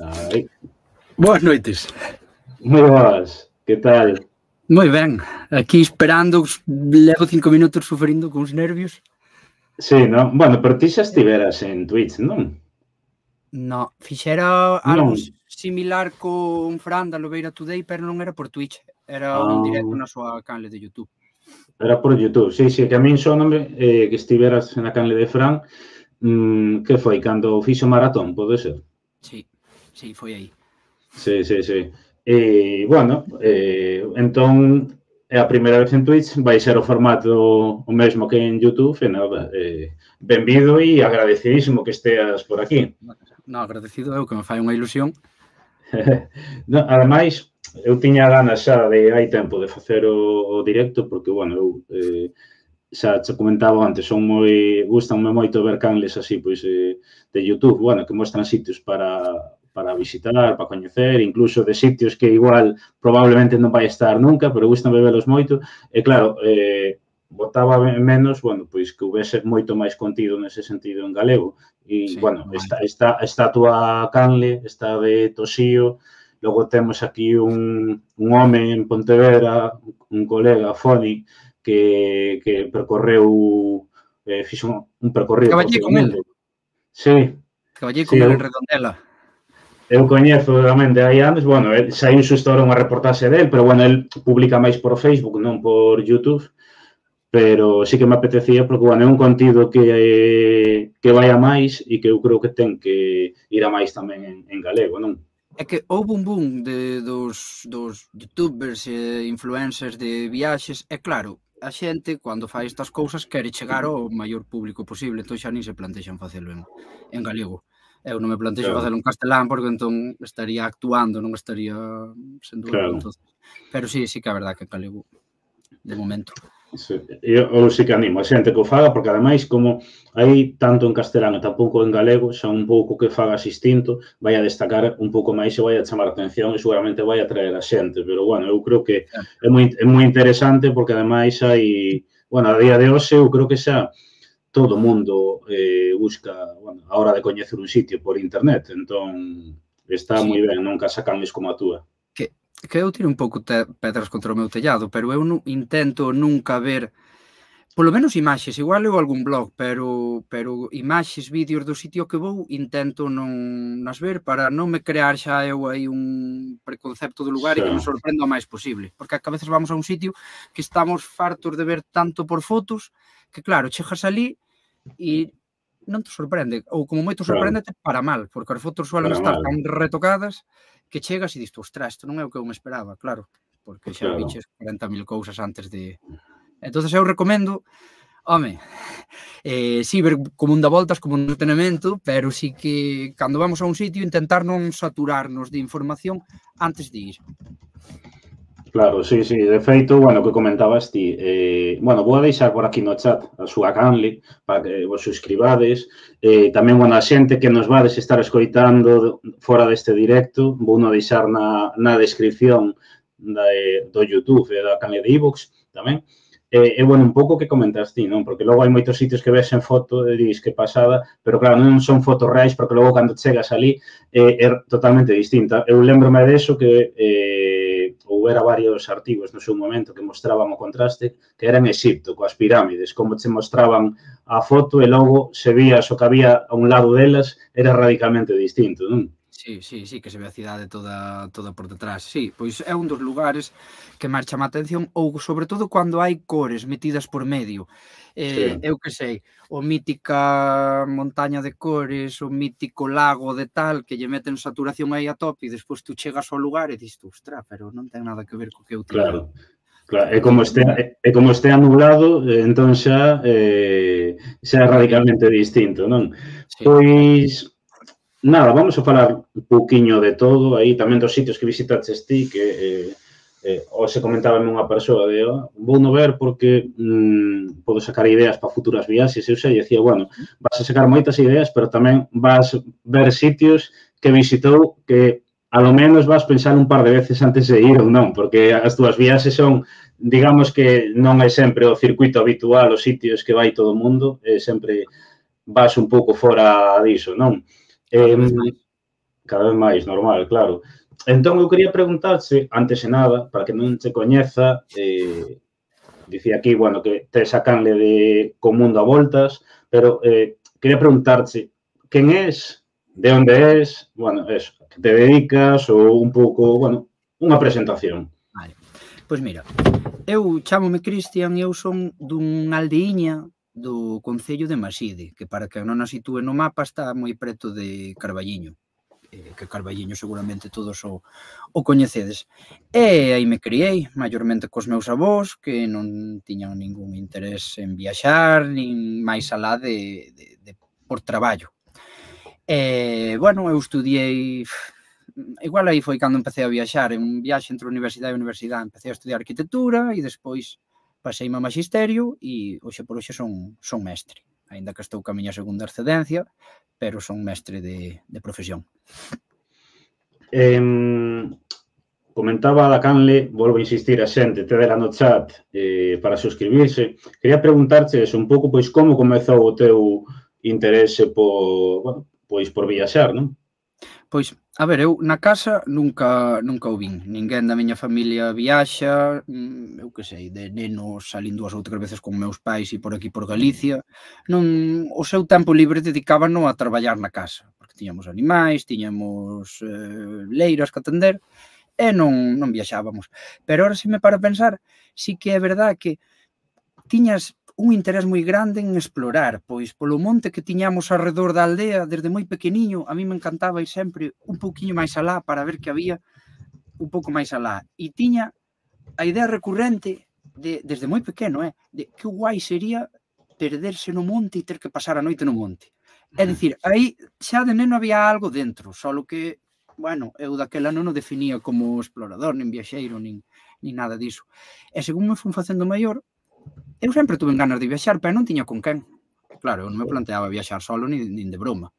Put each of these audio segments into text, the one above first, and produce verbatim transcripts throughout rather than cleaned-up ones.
Ai. Boas noites. Moi boas, que tal? Moi ben, aquí esperando, levo cinco minutos sufrindo cuns nervios. Sí, non? Bueno, pero ti xa estiveras en Twitch, non? No, fixera algo Non. similar con Fran da Lobeira Today, pero non era por Twitch, era un directo Ah. na súa canle de YouTube. Era por YouTube, sí, sí, que a min sóname eh, que estiveras na canle de Fran, mmm, que foi, cando fixo maratón, pode ser? Sí, sí, foi aí. Sí, sí, sí. E, bueno, eh, entón, é a primeira vez en Twitch, vai ser o formato o mesmo que en YouTube, e nada, eh, benvido e agradecidísimo que esteas por aquí. No, agradecido eu, que me fai unha ilusión. No, ademais, eu tiña ganas xa de hai tempo de facer o, o directo, porque, bueno, eu eh, xa che comentaba antes, son moi, gustanme moito ver canles así, pois, eh, de YouTube, bueno, que mostran sitios para, para visitar, para coñecer, incluso de sitios que igual probablemente non vai estar nunca, pero gustame velos moito, e claro, eh, botaba menos, bueno, pois que houvese moito máis contido nese sentido en galego, e, Sí, bueno, no está, está, está a túa canle, está de Toxío, logo temos aquí un, un home en Pontevedra, un colega, Foni, que, que percorreu, eh, fixo un, un percorrido por Traballei todo o con el. mundo. Sí. Traballei Sí, con el eu, en Redondela. eu coñezo tamén de hai anos, bueno, el, saiu xusto ahora unha reportaxe del, pero, bueno, el publica máis por Facebook, non por YouTube, pero sí que me apetecía, porque, bueno, é un contido que, eh, que vai a máis e que eu creo que ten que ir a máis tamén en, en galego, non? É que houve un boom de, dos, dos youtubers e influencers de viaxes, e claro, a xente, cando fai estas cousas, quere chegar ao maior público posible, entón xa nin se plantexan facelo en, en galego. Eu non me plantexo Claro. facelo en castelán, porque entón estaría actuando, non estaría sendo eu, Claro. entón. Pero sí, sí que é verdad que en galego, de momento. Sí, eu, eu sí que animo a xente que o faga, porque ademais, como hai tanto en castelán e tampouco en galego, xa un pouco que fagas distinto, vai a destacar un pouco máis e vai a chamar a atención e seguramente vai a traer a xente, pero, bueno, eu creo que é moi, é moi interesante porque ademais hai, bueno, a día de hoxe eu creo que xa todo o mundo eh, busca, bueno, a hora de coñecer un sitio por internet, entón está Sí. moi ben, non casa canles como a túa. Que, que eu tiro un pouco te, pedras contra o meu tellado, pero eu non, intento nunca ver, polo menos imaxes, igual eu algún blog, pero pero imaxes, vídeos do sitio que vou, intento non nas ver para non me crear xa eu aí un preconcepto do lugar, sí, e que me sorprenda o máis posible, porque a veces vamos a un sitio que estamos fartos de ver tanto por fotos, que claro, chegas ali e non te sorprende, ou como moito sorprendete para mal, porque as fotos suelen Para estar mal. tan retocadas que chegas e diste, ostras, isto non é o que eu me esperaba, claro, porque xa Claro. viches cuarenta mil cousas antes de... Entonces eu recomendo, home, eh, sí, ver como un da voltas, como un entretenimento, pero sí que cando vamos a un sitio intentar non saturarnos de información antes de ir. Claro, sí, sí, de feito, bueno, que comentabas ti, eh, bueno, vou a deixar por aquí no chat a súa canle para que vos suscribades, eh, tamén, bueno, a xente que nos vades estar escoitando fora deste directo, vou non deixar na, na descripción da, do YouTube e da canle de iVoox tamén, e, eh, bueno, un pouco que comentas ti, non? Porque logo hai moitos sitios que ves en foto e dis que pasada, pero claro, non son fotos reais, porque logo cando chegas ali eh, é totalmente distinta. Eu lembrome de eso que eh, houbera varios artigos no seu momento que mostraban o contraste, que era en Egipto, coas pirámides, como che mostraban a foto e logo se vías o que había a un lado delas era radicalmente distinto, non? Sí, sí, sí, que se ve a cidade toda, toda por detrás. Sí, pois é un dos lugares que máis chama a atención, ou sobre todo cando hai cores metidas por medio. Eh, sí. Eu que sei, o mítica montaña de cores, o mítico lago de tal, que lle meten saturación aí a tope e despois tú chegas ao lugar e dis, ostra, pero non ten nada que ver co que eu tiña. Claro. Claro, e como este, e como este nublado, entón xa eh, xa é radicalmente distinto, non? Sí. Pois, nada, vamos a falar un pouquiño de todo, aí tamén dos sitios que visitaches ti, que eh, eh, ou se comentaba unha persoa de, oh, vou no ver porque mm, podo sacar ideas para futuras viaxes, eu xa dicía, bueno, vas a sacar moitas ideas, pero tamén vas ver sitios que visitou que a lo menos vas pensar un par de veces antes de ir ou non, porque as túas viaxes son, digamos que non é sempre o circuito habitual, os sitios que vai todo o mundo, é sempre vas un pouco fora diso, non? Eh, cada vez máis, normal, claro. Entón, eu quería preguntarse, antes de nada, para que non te coñeza, eh, dicía aquí, bueno, que tes a canle de co mundo a voltas, pero eh, quería preguntarche, quen és, de onde és, bueno, eso, que te dedicas ou un pouco, bueno, unha presentación. Vale, pois mira, eu chámome Cristian e eu son dunha aldeíña do concello de Maside, que para que non a sitúe no mapa está moi preto de Carballiño, que Carballiño seguramente todos o, o coñecedes. E aí me criei, maiormente cos meus avós, que non tiñan ningún interés en viaxar, nin máis alá de, de, de por traballo. E, bueno, eu estudiei, igual aí foi cando empecé a viaxar, en un viaxe entre universidade e universidade, empecé a estudiar arquitectura e despois paseime a magisterio e hoxe por hoxe son, son mestre, aínda que estou ca miña segunda excedencia, pero son mestre de, de profesión. Eh, comentaba da canle, volvo a insistir a xente, te dela no chat eh, para suscribirse. Quería preguntarche eso, un pouco, pois, como comezou o teu interese por, bueno, pois, por viaxar, non? Pois, a ver, eu na casa nunca nunca o vin. Ninguén da miña familia viaxa, eu que sei, de neno salín dúas ou tres veces con meus pais e por aquí por Galicia. Non, o seu tempo libre dedicábano a traballar na casa, porque tiñamos animais, tiñamos eh, leiras que atender, e non, non viaxábamos. Pero ahora, se me para a pensar, sí que é verdade que tiñas un interés moi grande en explorar, pois polo monte que tiñamos alrededor da aldea, desde moi pequeniño, a mí me encantaba ir sempre un pouquiño máis alá para ver que había un pouco máis alá. E tiña a idea recurrente, de, desde moi pequeno, eh, de que guai sería perderse no monte e ter que pasar a noite no monte. É dicir, aí xa de neno había algo dentro, só que, bueno, eu daquela non o definía como explorador, nin viaxeiro, nin, nin nada diso. E según me fun facendo maior, eu sempre tuve ganas de viaxar, pero non tiña con quen. Claro, eu non me planteaba viaxar solo nin, nin de broma.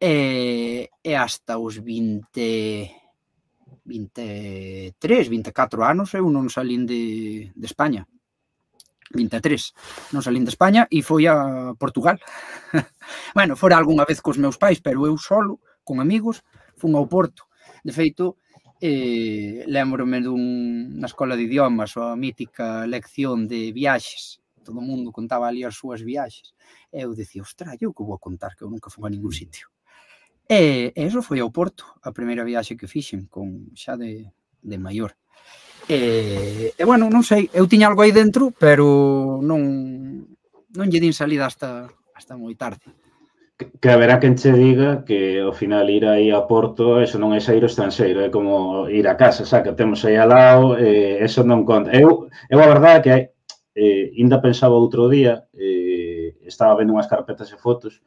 E, e hasta os vinte, vinte e tres, vinte e catro anos eu non salín de, de España. vinte e tres, non salín de España e foi a Portugal. Bueno, fora algunha vez cos meus pais, pero eu solo, con amigos, fun ao Porto. De feito, Eh, lembro-me dun, na escola de idiomas, a mítica lección de viaxes, todo o mundo contaba ali as súas viaxes, e eu dicía, ostra, eu que vou a contar, que eu nunca fui a ningún sitio. E, e eso foi ao Porto, a primeira viaxe que fixen, con xa de, de maior. E, e bueno, non sei, eu tiña algo aí dentro, pero non, non lle din salida hasta, hasta moi tarde. Que haberá quen che diga que ao final ir aí a Porto, eso non é sair ao estranxeiro, é como ir a casa, xa que temos aí ao lado, eh, eso non conta. Eu, eu a verdade que eh, ainda pensaba outro día, eh, estaba vendo unhas carpetas e fotos,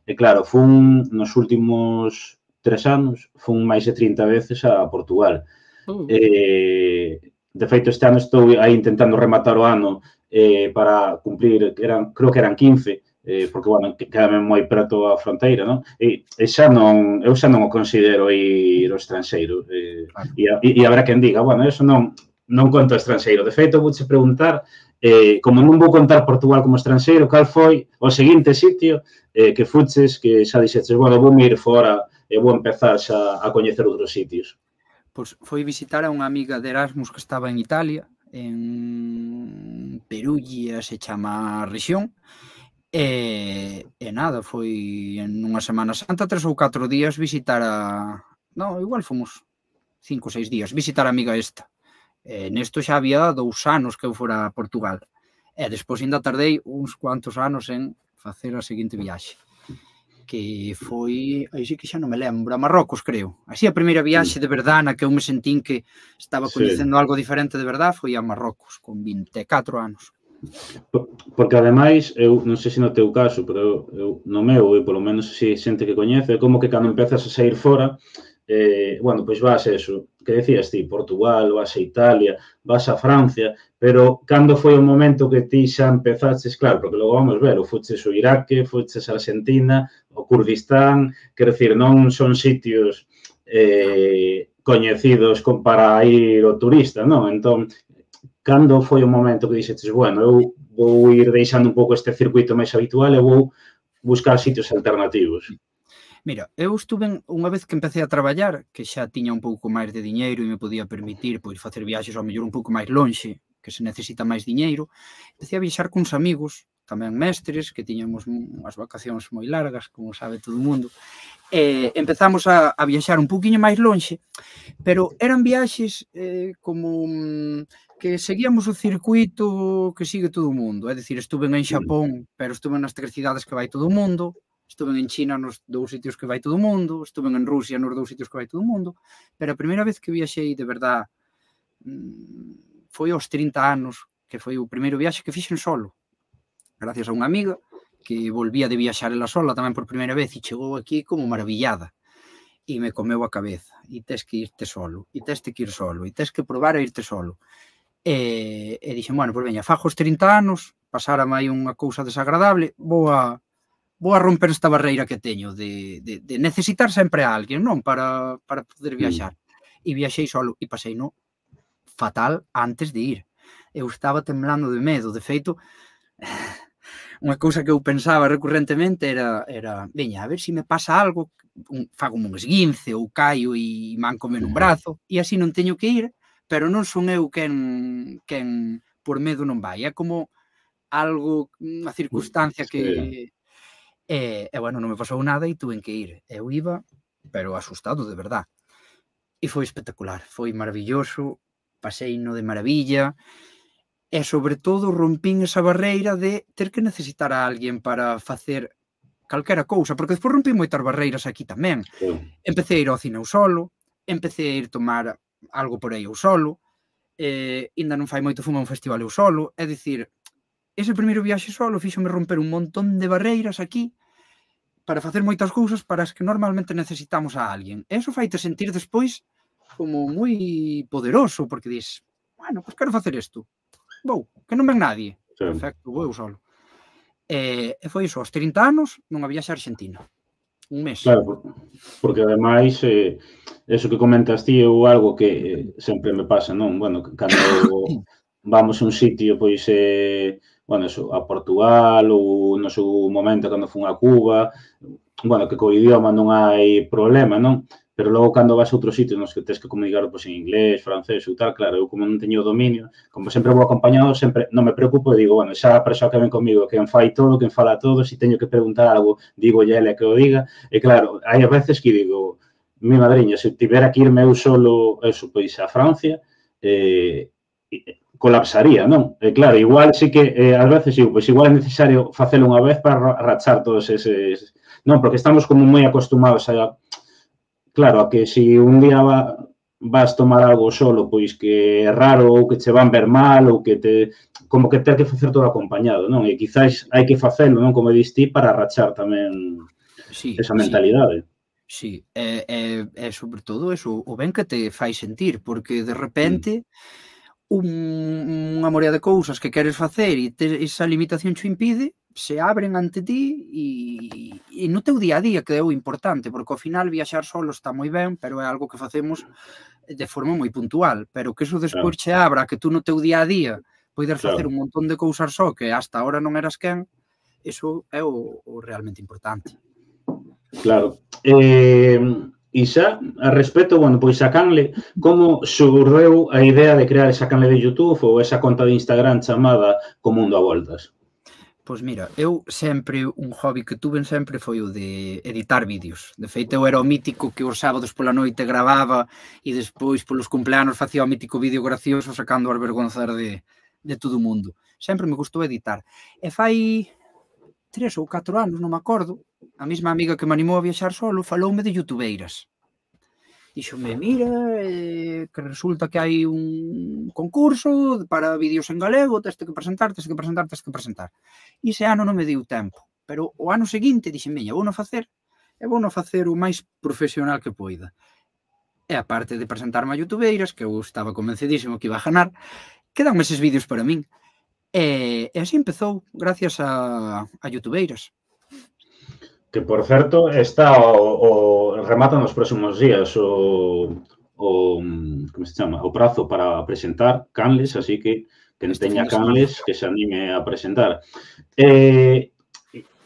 e claro, fun nos últimos tres anos, fun máis de trinta veces a Portugal. Uh. Eh, de feito, este ano estou aí intentando rematar o ano eh, para cumplir, eran, creo que eran quince, Eh, porque, bueno, quedame moi preto a fronteira, non? E, e xa non, eu xa non o considero ir ao estranxeiro. Eh, e, e habrá quen diga, bueno, eso non, non conto estranxeiro. De feito, vouche preguntar, eh, como non vou contar Portugal como estranxeiro, cal foi o seguinte sitio eh, que fuches, que xa dixeches, bueno, vou ir fora e vou empezar xa a coñecer outros sitios? Pois foi visitar a unha amiga de Erasmus que estaba en Italia, en Perugia se chama a rexión. E, e nada, foi en unha Semana Santa, tres ou catro días visitar a... Non, igual fomos cinco ou seis días, visitar a amiga esta. E nesto xa había dous anos que eu fora a Portugal. E despois ainda tardei uns cuantos anos en facer a seguinte viaxe. Que foi, aí sí que xa non me lembro, a Marrocos, creo. Así a primeira viaxe de verdade na que eu me sentín que estaba coñecendo algo diferente de verdade foi a Marrocos, con vinte e catro anos. Porque, ademais, eu non sei se no teu caso, pero eu, eu no meu, e polo menos se xente que coñece, é como que cando empezas a sair fora, eh, bueno, pois vas eso, que decías ti, Portugal, vas a Italia, vas a Francia, pero cando foi o momento que ti xa empezaches, claro, porque logo vamos ver, o fuches o Iraque, fuches a Argentina, o Kurdistán, quero dicir, non son sitios eh, coñecidos para ir o turista, non? Entón, cando foi o momento que dixetes, bueno, eu vou ir deixando un pouco este circuito máis habitual e vou buscar sitios alternativos? Mira, eu estuve unha vez que empecé a traballar, que xa tiña un pouco máis de diñeiro e me podía permitir pois facer viaxes ao mellor un pouco máis lonxe, que se necesita máis diñeiro, empecé a viaxar cuns amigos, tamén mestres, que tiñamos unhas vacacións moi largas, como sabe todo o mundo, e empezamos a, a viaxar un pouquiño máis lonxe, pero eran viaxes eh, como que seguíamos o circuito que sigue todo o mundo, é dicir, estuve en Xapón, pero estuve nas tres cidades que vai todo o mundo, estuve en China nos dous sitios que vai todo o mundo, estuve en Rusia nos dous sitios que vai todo o mundo, pero a primeira vez que viaxei de verdad foi aos trinta anos, que foi o primeiro viaxe que fixen solo, gracias a unha amiga que volvía de viaxar ela sola tamén por primeira vez e chegou aquí como maravillada e me comeu a cabeza, e tes que irte solo, e tes que ir solo, e tes que probar a irte solo. E, e dixen, bueno, pois veña, fajo os trinta anos, pasárame aí unha cousa desagradable, vou a vou a romper esta barreira que teño de, de, de necesitar sempre a alguén, non? Para, para poder viaxar. E viaxei solo e pasei no fatal antes de ir. Eu estaba temblando de medo. De feito, unha cousa que eu pensaba recurrentemente era, era veña, a ver se me pasa algo, un, fago un esguince ou caio e mancome nun brazo, e así non teño que ir, pero non son eu quen, quen por medo non vai. É como algo, unha circunstancia que... E, e, bueno, non me pasou nada e tuve que ir. Eu iba, pero asustado de verdad. E foi espectacular, foi maravilloso, pasei no de maravilla, e sobre todo rompín esa barreira de ter que necesitar a alguén para facer calquera cousa, porque despois rompín moitas barreiras aquí tamén. Sí. Empecé a ir ao cine eu solo, empecé a ir tomar algo por aí eu solo, eh, ainda non fai moito fumo a un festival eu solo, é dicir, ese primeiro viaxe solo fíxome romper un montón de barreiras aquí para facer moitas cousas para as que normalmente necesitamos a alguén. E iso faite sentir despois como moi poderoso, porque dis, bueno, pois quero facer isto. Vou, que non ven nadie. Sí. Perfecto, vou eu solo. E, e foi iso, aos trinta anos, nunha viaxe a Argentina. Un mes. Claro, porque ademais, eh, eso que comentas ti é algo que eh, sempre me pasa, non? Bueno, cando vamos a un sitio, pois, eh, bueno, eso, a Portugal ou no seu momento cando fun a Cuba, bueno, que co idioma non hai problema, non? Pero logo cando vas a outros sitios nos que tens que comunicar pois, en inglés, francés ou tal, claro, eu como non teño dominio, como sempre vou acompañado, sempre non me preocupo e digo, bueno, xa a persoa que ven comigo, quen fai todo, quen fala todo, se teño que preguntar algo, digo ya ela que o diga, e claro, hai a veces que digo, mi madriña, se tivera que irme eu solo, eso, pois, a Francia, eh, colapsaría, non? E claro, igual sí que, eh, ás veces, digo, pois igual é necesario facelo unha vez para rachar todos eses... Non, porque estamos como moi acostumados a... Claro, a que se un día va, vas tomar algo solo, pois que é raro ou que che van ver mal ou que te... Como que ter que facer todo acompañado, non? E quizás hai que facelo, non? Como dis ti, para rachar tamén sí, esa mentalidade. Sí, e, e, e sobre todo eso, o ben que te fai sentir, porque de repente... Mm. Un, unha morea de cousas que queres facer e te, esa limitación xo impide, se abren ante ti e, e no teu día a día, que é o importante, porque ao final viaxar solo está moi ben, pero é algo que facemos de forma moi puntual, pero que eso despois claro. Che abra, que tú no teu día a día podes facer claro. Un montón de cousas só que hasta ahora non eras quen, eso é o, o realmente importante. Claro. Eh... E xa, a respecto, bueno, pois a Canle, como xurdeu a idea de crear esa canle de YouTube ou esa conta de Instagram chamada Co Mundo a Voltas? Pois mira, eu sempre, un hobby que tuve sempre foi o de editar vídeos. De feito, eu era o mítico que os sábados pola noite gravaba e despois polos cumpleanos facía o mítico vídeo gracioso sacando as vergonzas de, de todo o mundo. Sempre me gustou editar. E fai tres ou catro anos, non me acordo, a mesma amiga que me animou a viaxar solo faloume de youtubeiras. Dixome, mira, eh, que resulta que hai un concurso para vídeos en galego, teste que presentar, teste que presentar, teste que presentar. E ese ano non me deu tempo, pero o ano seguinte dixen, veña, vou non facer, e vou non facer o máis profesional que poida. E a parte de presentarme a youtubeiras, que eu estaba convencidísimo que iba a ganar, quedanme eses vídeos para min. E, e así empezou, gracias a, a youtubeiras. Que, por certo, está o, o remata nos próximos días o, o, como se chama, o prazo para presentar canles, así que quen teña canles que se anime a presentar. Eh,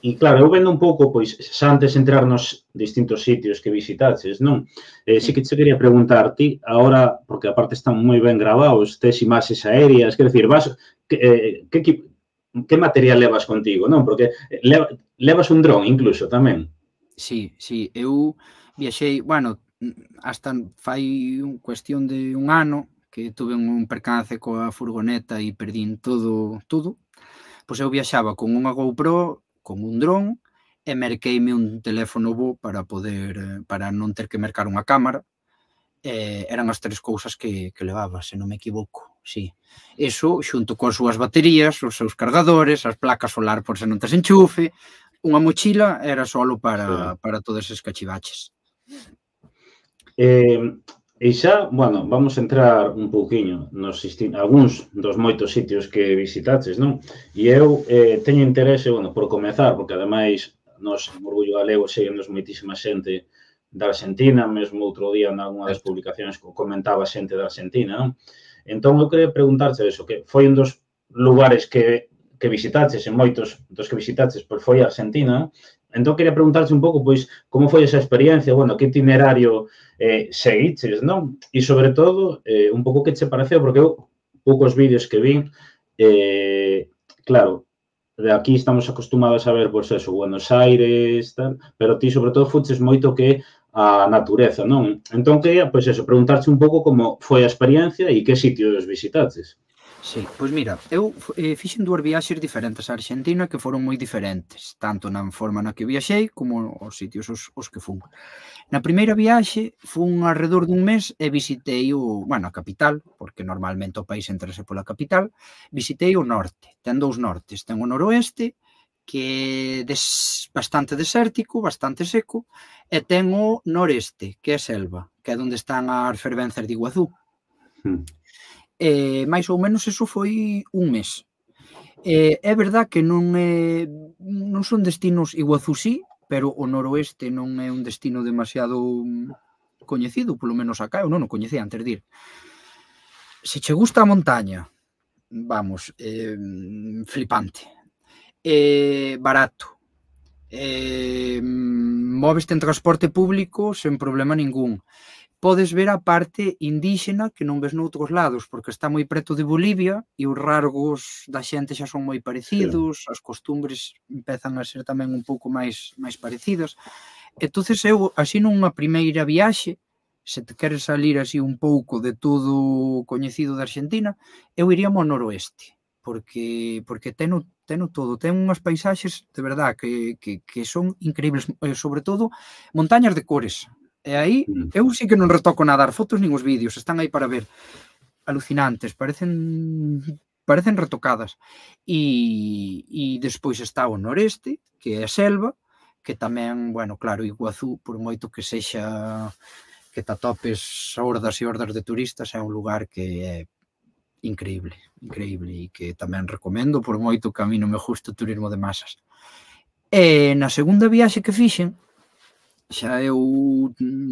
E claro, eu vendo un pouco, pois, xa antes de entrar nos distintos sitios que visitaches, non? Eh, sí que te quería preguntar ti, agora, porque aparte están moi ben gravados, tes imaxes aéreas, quer decir, vas, que, eh, que, que, que material levas contigo, non? Porque leva, levas un dron incluso tamén. Sí, sí, eu viaxei, bueno, hasta fai un cuestión de un ano que tuve un percance coa furgoneta e perdín todo, todo. Pois eu viaxaba con unha GoPro, con un dron, e merqueime un teléfono bo para poder, para non ter que mercar unha cámara. Eh, eran as tres cousas que, que levaba, se non me equivoco, sí. Eso, xunto coas súas baterías, os seus cargadores, as placas solar por se non tes enchufe, unha mochila era solo para, sí. para todos eses cachivaches. Eh, e xa, bueno, vamos a entrar un pouquiño nos algúns dos moitos sitios que visitaches, non? E eu eh, teño interese, bueno, por comezar, porque ademais nos en Orgullo Galego seguimos moitísima xente da Argentina, mesmo outro día nalgúna das publicacións comentaba xente da Argentina, non? Entón, eu queria preguntarche eso, que foi un dos lugares que, que visitaches, en moitos dos que visitaches, pois foi a Argentina, non? Entón, queria preguntarche un pouco, pois, como foi esa experiencia, bueno, que itinerario eh, seguiches, non? E, sobre todo, eh, un pouco que che pareceu, porque eu, poucos vídeos que vin, eh, claro, de aquí estamos acostumados a ver, pois, eso, Buenos Aires, tal, pero ti, sobre todo, fuches moito que a natureza, non? Entón, quería, pois, eso, preguntarche un pouco como foi a experiencia e que sitios visitaches. Sí, pois mira, eu eh, fixen dúas viaxes diferentes a Argentina que foron moi diferentes, tanto na forma na que viaxei como os sitios os, os que fun. Na primeira viaxe fun alrededor dun mes e visitei o, bueno, a capital, porque normalmente o país entrase pola capital, visitei o norte, ten dous nortes, ten o noroeste, que é des, bastante desértico, bastante seco, e ten o noreste, que é selva, que é onde están as fervenzas de Iguazú. Hmm. Eh, máis ou menos eso foi un mes. Eh, é verdad que non, é, non son destinos, Iguazú sí, pero o noroeste non é un destino demasiado coñecido, polo menos acá, eu non o coñecía antes de ir. Se che gusta a montaña, vamos, eh, flipante, eh, barato, eh, móveste en transporte público sen problema ningún. Podes ver a parte indíxena que non ves noutros lados, porque está moi preto de Bolivia e os rasgos da xente xa son moi parecidos, sí. As costumbres empezan a ser tamén un pouco máis máis parecidas. Entonces eu, así nunha primeira viaxe, se te queres salir así un pouco de todo coñecido da Argentina, eu iría ao noroeste, porque porque teno, teno todo, ten unhas paisaxes de verdad que, que, que son increíbles, sobre todo montañas de cores. E aí, eu sí que non retoco nada as fotos nin os vídeos, están aí para ver. Alucinantes, parecen parecen retocadas. E, e despois está o noreste, que é a selva, que tamén, bueno, claro, Iguazú, por moito que sexa que te atopes hordas e hordas de turistas, é un lugar que é increíble, increíble, e que tamén recomendo, por moito que a mí non me gusta o turismo de masas. E na segunda viaxe que fixen, xa eu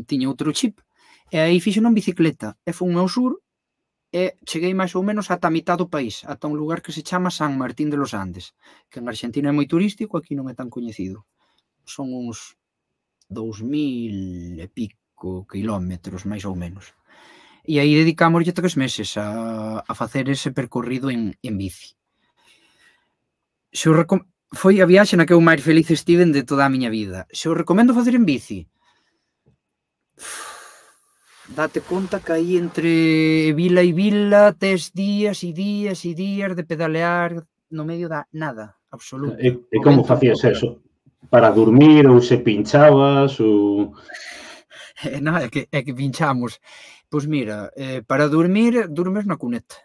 tiña outro chip, e aí fixen en bicicleta, e fun ao sur, e cheguei máis ou menos ata a mitad do país, ata un lugar que se chama San Martín de los Andes, que en Argentina é moi turístico, aquí non é tan coñecido. Son uns dous mil e pico kilómetros, máis ou menos. E aí dedicámoslle tres meses a, a facer ese percorrido en, en bici. Se o recom... Foi a viaxe na que eu máis feliz estiven de toda a miña vida. Se o recomendo facer en bici, date conta que aí entre vila e vila tes días e días e días de pedalear no medio da nada, absoluto. E, e como facías eso? Para dormir ou se pinchabas ou... Non, é que, é que pinchamos. Pois mira, eh, para dormir, dormes na cuneta.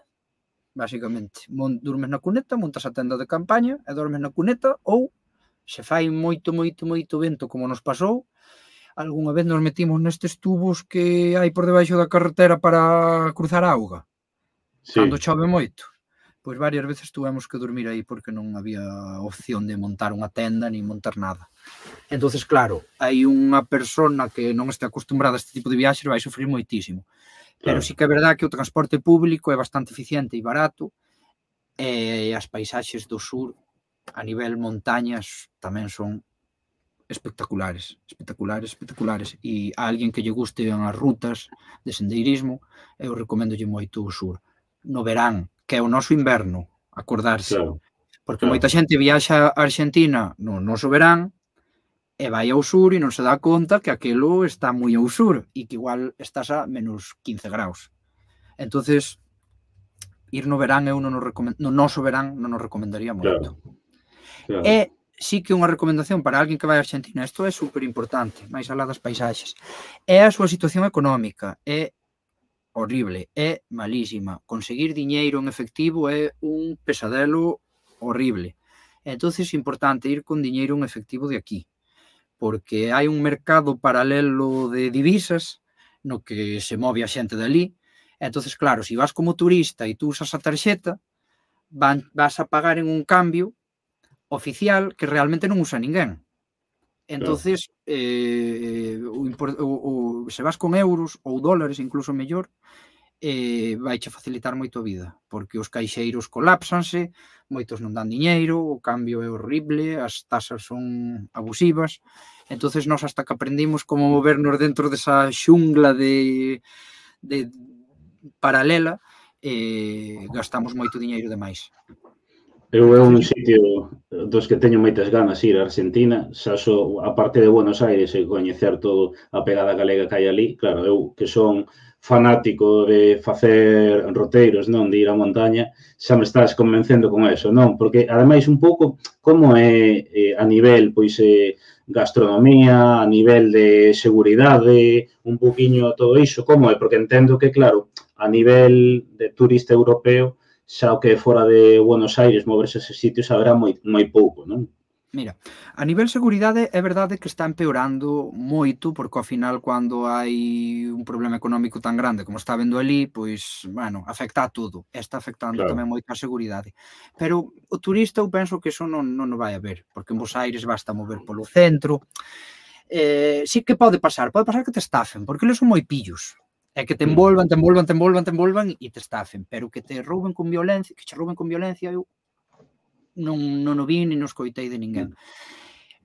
Basicamente, durmes na cuneta, montas a tenda de campaña e dormes na cuneta, ou se fai moito, moito, moito vento como nos pasou, algunha vez nos metimos nestes tubos que hai por debaixo da carretera para cruzar a auga, sí. Cando chove moito, pois varias veces tuvemos que dormir aí porque non había opción de montar unha tenda ni montar nada. Entonces, claro, hai unha persona que non este acostumbrada a este tipo de viaxes vai sufrir moitísimo. Pero sí que é verdad que o transporte público é bastante eficiente e barato, e as paisaxes do sur a nivel montañas tamén son espectaculares, espectaculares, espectaculares. E a alguén que lle guste as rutas de sendeirismo, eu recomendolle moito o sur. No verán, que é o noso inverno, acordarse. Claro, Porque claro. moita xente viaxa a Argentina no noso verán e vai ao sur e non se dá conta que aquilo está moi ao sur e que igual estás a menos quince graus. Entonces, ir no verán eu non nos recomend... no noso verán non nos recomendaría moito. Claro, claro. E sí que unha recomendación para alguén que vai a Argentina, isto é super importante, máis alá das paisaxes, é a súa situación económica, é horrible, é malísima. Conseguir diñeiro en efectivo é un pesadelo horrible. Entonces é importante ir con diñeiro en efectivo de aquí, porque hai un mercado paralelo de divisas no que se move a xente dali. Entonces, claro, se vas como turista e tú usas a tarxeta, van, vas a pagar en un cambio oficial que realmente non usa ninguén. Entonces, claro. eh, o, o, o, se vas con euros ou dólares, incluso mellor, eh, vai che facilitar moito a vida, porque os caixeiros colapsanse, moitos non dan diñeiro, o cambio é horrible, as tasas son abusivas. Entonces, nós hasta que aprendimos como movernos dentro desa xungla de, de paralela, eh, gastamos moito diñeiro demais. Eu é un sitio dos que teño moitas ganas ir a Argentina, xa so, a parte de Buenos Aires e coñecer todo a pegada galega que hai ali, claro, eu que son fanático de facer roteiros, non, de ir á montaña, xa me estás convencendo con eso, non? Porque, ademais, un pouco, como é eh, a nivel, pois, eh, gastronomía, a nivel de seguridade, un poquinho todo iso, como é? Porque entendo que, claro, a nivel de turista europeo, xa o que fora de Buenos Aires moverse a eses sitios haberá moi, moi pouco, non? Mira, a nivel seguridade é verdade que está empeorando moito, porque ao final cando hai un problema económico tan grande como está vendo ali, pois, bueno, afecta a todo. Está afectando claro. Tamén moito a seguridade. Pero o turista eu penso que eso non, non o vai a ver, porque en Buenos Aires basta mover polo centro. Eh, sí que pode pasar, pode pasar que te estafen, porque eles son moi pillos. É que te envolvan, te envolvan, te envolvan, te envolvan e te estafen, pero que te rouben con violencia, que che rouben con violencia, eu non, non o vi ni non escoitei de ninguén.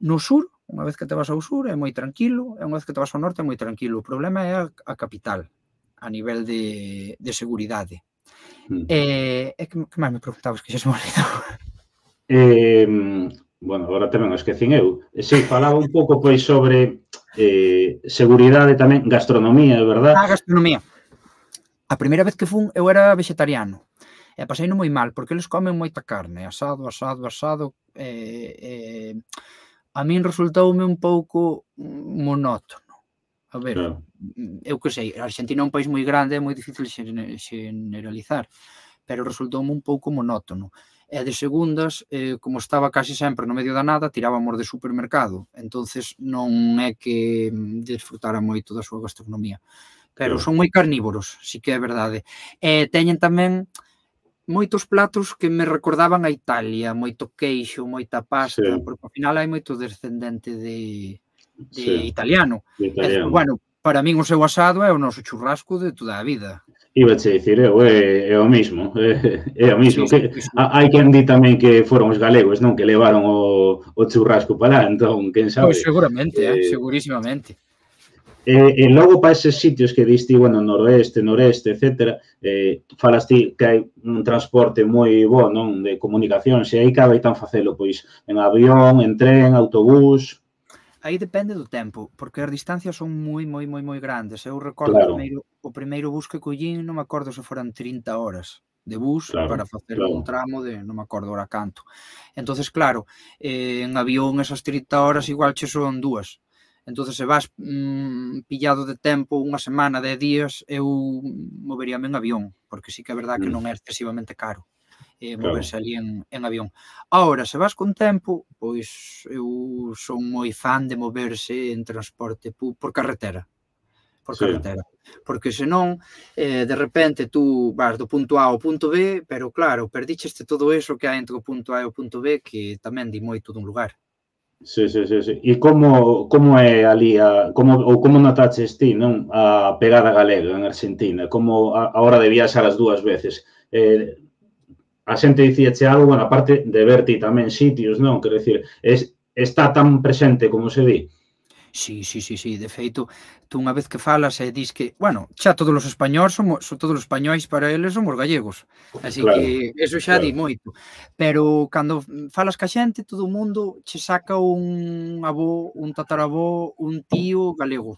No sur, unha vez que te vas ao sur, é moi tranquilo, e unha vez que te vas ao norte é moi tranquilo. O problema é a, a capital, a nivel de, de seguridade. Mm. E, e que, que máis me preguntabas que xa se me olvidou? Eh, bueno, agora tamén o esquecín eu. Si, falaba un pouco pois sobre eh, seguridade tamén, gastronomía, é verdad? Ah, gastronomía. A primeira vez que fun, eu era vegetariano. E pasei non moi mal, porque eles comen moita carne, asado, asado, asado. Eh, eh, a min resultoume un pouco monótono. A ver, claro. Eu que sei, a Argentina é un país moi grande, é moi difícil generalizar, pero resultoume un pouco monótono. E de segundas, eh, como estaba casi sempre no medio da nada, tirábamos de supermercado. Entonces non é que desfrutara moito da súa gastronomía. Pero claro. Son moi carnívoros, sí que é verdade. E teñen tamén moitos platos que me recordaban a Italia, moito queixo, moita pasta, sí. Porque ao final hai moito descendente de, de sí. italiano. De italiano. E, bueno, para min o seu asado é o noso churrasco de toda a vida. Iba a dicir, eu, é, é o mismo, é, é o mismo. Sí, que, sí, sí. Hai quen di tamén que foron os galegos, non? Que levaron o, o churrasco para lá, entón, quen sabe? Pois seguramente, eh, eh, segurísimamente. E, e logo para eses sitios que diste, bueno, noroeste, noreste, etcétera, eh, falas ti que hai un transporte moi bo, non? De comunicación, se aí cabe tan facelo, pois, en avión, en tren, autobús... Aí depende do tempo, porque as distancias son moi, moi, moi, moi grandes. Eu recordo claro. o, primeiro, o primeiro bus que collín, non me acordo se foran trinta horas de bus claro, para facer claro. un tramo de, non me acordo ora canto. Entonces, claro, eh, en avión esas trinta horas igual che son dúas. Entonces, se vas mmm, pillado de tempo unha semana, dez días, eu moveríame en avión, porque sí que é verdade que non é excesivamente caro. Eh, moverse claro. ali en, en avión. Ahora, se vas con tempo, pois eu son moi fan de moverse en transporte por carretera. Por sí. carretera. Porque senón, eh, de repente, tú vas do punto A ao punto B, pero claro, perdicheste todo eso que hai entre o punto A e o punto B, que tamén di moito dun lugar. Sí, sí, sí, sí. E como, como é ali, a, como, ou como notaches ti, non? A pegada galega en Argentina, como a, a hora de viaxar as dúas veces. Eh, a xente dicíache algo, bueno, aparte de ver ti tamén sitios, non? Quero dicir, es, está tan presente como se di. Sí, sí, sí, sí, de feito, tú unha vez que falas e dis que, bueno, xa todos os españóis somos, todos os españóis para eles somos gallegos, así Claro, que eso xa claro, di moito, pero cando falas ca xente, todo o mundo che saca un avó, un tataravó, un tío galego.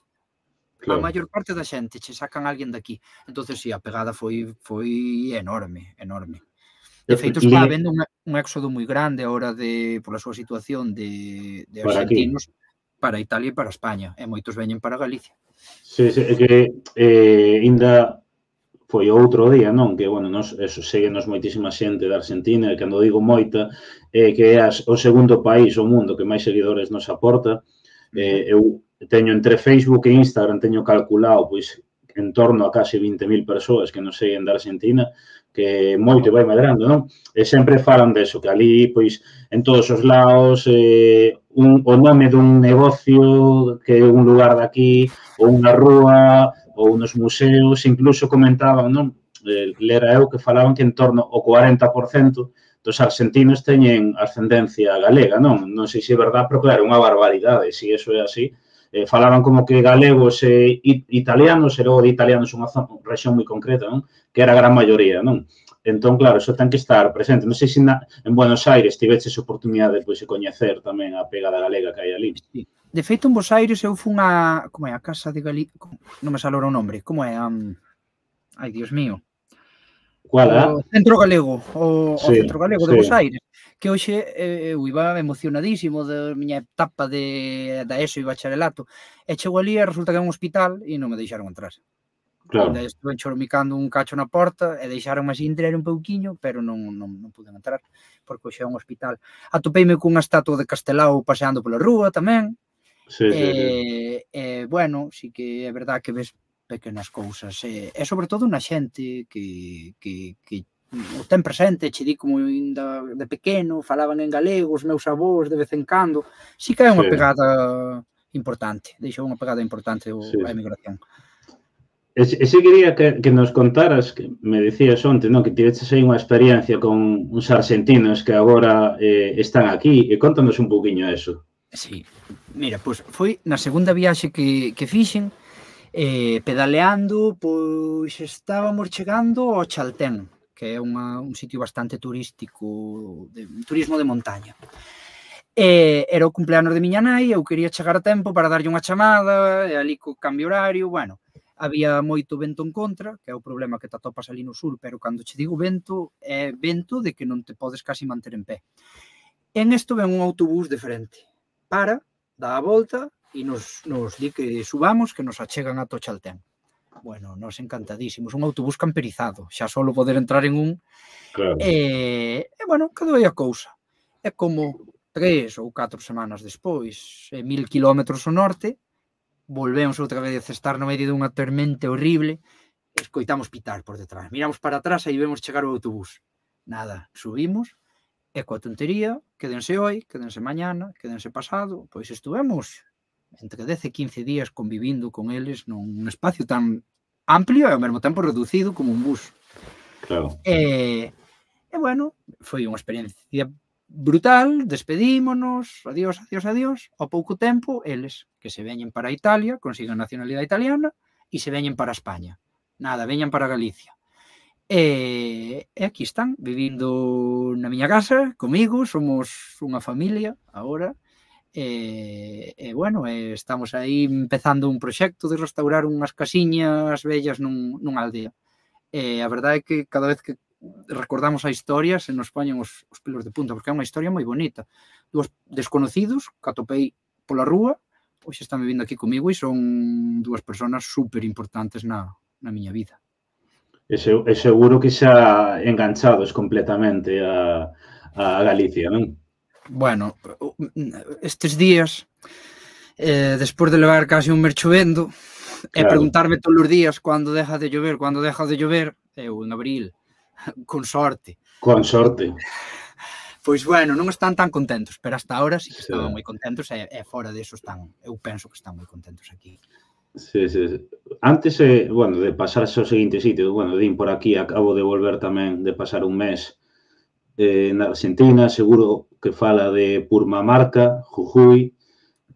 A claro. maior parte da xente che sacan alguén daqui. Entonces, si, sí, a pegada foi foi enorme, enorme. De feito, está Li, habendo un, un éxodo moi grande agora de, pola súa situación de, de para aquí. arxentinos para Italia e para España, e moitos veñen para Galicia. Sí, sí, é que eh, ainda foi outro día, non? Que, bueno, nos, eso, seguenos moitísima xente da Argentina, e cando digo moita, eh, que é as, o segundo país o mundo que máis seguidores nos aporta. Eh, eu teño entre Facebook e Instagram, teño calculado, pois, en torno a case vinte mil persoas que nos seguen da Argentina, que moito vai medrando, non? E sempre falan deso, que ali, pois, en todos os lados, eh, un, o nome dun negocio, que é un lugar daqui, ou unha rúa, ou nos museos, incluso comentaban, non? Eh, lera eu que falaban que en torno ao cuarenta por cento dos argentinos teñen ascendencia galega, non? Non sei se é verdade, pero claro, é unha barbaridade, se iso é así. Eh, falaban como que galegos e italianos, e logo de italianos unha rexión moi concreta, non? Que era a gran maioría, non? Entón, claro, iso ten que estar presente. Non sei se na, en Buenos Aires tiveches oportunidade pois, de coñecer tamén a pegada galega que hai ali. Sí. De feito, en Buenos Aires eu fun a... Como é? A Casa de Galicia... Non me sale o nome. Como é? Um... Ai, Dios mío. Cual, o Centro Galego, o, sí, o Centro Galego sí. de Bos Aires, que hoxe eh, eu iba emocionadísimo da miña etapa de, da ESO e bacharelato, e chego ali e resulta que é un hospital e non me deixaron entrar. Claro. Ainda estuve choromicando un cacho na porta e deixaronme así entrar un pouquiño, pero non, non, non pude entrar, porque hoxe é un hospital. Atopeime cunha estatua de Castelao paseando pola rúa tamén. Sí, e, sí, sí. e, bueno, sí que é verdad que ves pequenas cousas, e, e sobre todo na xente que, que, que o ten presente, che di como ainda de pequeno, falaban en galego, os meus avós de vez en cando, sí que é unha sí. pegada importante, deixou unha pegada importante o, sí, a sí. emigración. E se quería que, que nos contaras, que me decías onte, non? Que tiveches aí unha experiencia con uns argentinos que agora eh, están aquí, e contanos un pouquiño eso. Sí, mira, pois foi na segunda viaxe que, que fixen, Eh, pedaleando, pois estábamos chegando ao Chaltén, que é unha, un sitio bastante turístico, de, turismo de montaña. E era o cumpleanos de miña nai, eu quería chegar a tempo para darlle unha chamada, e ali co cambio horario, bueno, había moito vento en contra, que é o problema que te atopas ali no sur, pero cando che digo vento, é vento de que non te podes casi manter en pé. En isto ven un autobús de frente, para, dá a volta, e nos, nos di que subamos, que nos achegan a Chaltén. Bueno, nos encantadísimos, un autobús camperizado, xa só poder entrar en un. Claro. E, e bueno, quedou aí a cousa. É como tres ou catro semanas despois, e mil kilómetros ao norte, volvemos outra vez a estar no medio dunha tormenta horrible, e escoitamos pitar por detrás. Miramos para atrás e vemos chegar o autobús. Nada, subimos, e coa tontería, quédense hoy, quédense mañana, quédense pasado, pois estuvemos entre dez e quince días convivindo con eles nun espacio tan amplio e ao mesmo tempo reducido como un bus. Claro. E, e bueno, foi unha experiencia brutal, despedímonos, adiós, adiós, adiós, ao pouco tempo, eles que se veñen para Italia, consiguen nacionalidade italiana, e se veñen para España. Nada, veñan para Galicia. E, e aquí están, vivindo na miña casa, comigo, somos unha familia, agora. E, e bueno, e estamos aí empezando un proxecto de restaurar unhas casiñas vellas nun, nunha aldea. E a verdade é que cada vez que recordamos a historia se nos poñen os, os pelos de punta, porque é unha historia moi bonita. Dúas desconocidos que atopei pola rúa, pois están vivindo aquí comigo e son dúas persoas super importantes na, na miña vida. E, se, e seguro que xa enganchados completamente a, a Galicia, non? Bueno, estes días, eh, despois de levar casi un mes chovendo, claro, e preguntarme todos os días cando deja de llover, cando deja de llover, eu en abril, con sorte. Con sorte. Pois bueno, non están tan contentos, pero hasta ahora sí que sí. Estaban moi contentos e, e fora deso están, eu penso que están moi contentos aquí. Sí, sí, sí. Antes, eh, bueno, de pasarse ao seguinte sitio, bueno, din por aquí, acabo de volver tamén de pasar un mes eh, na Argentina, seguro que fala de Purmamarca, Jujuy,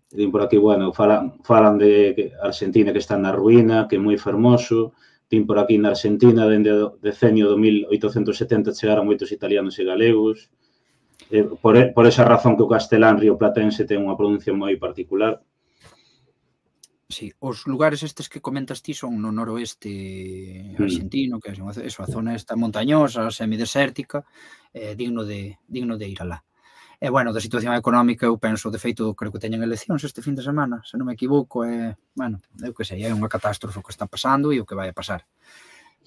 din por aquí, bueno, falan, falan de que Argentina que está na ruína, que é moi fermoso, din por aquí na Argentina, dende o decenio do mil oitocentos setenta chegaron moitos italianos e galegos, eh, por, por esa razón que o castelán rioplatense ten unha pronuncia moi particular. Sí, os lugares estes que comentas ti son no noroeste argentino, que é eso, a zona esta montañosa, semidesértica, eh, digno de digno de ir alá. E, bueno, da situación económica, eu penso, de feito, creo que teñen eleccións este fin de semana, se non me equivoco, é, bueno, eu que sei, é unha catástrofe o que está pasando e o que vai a pasar.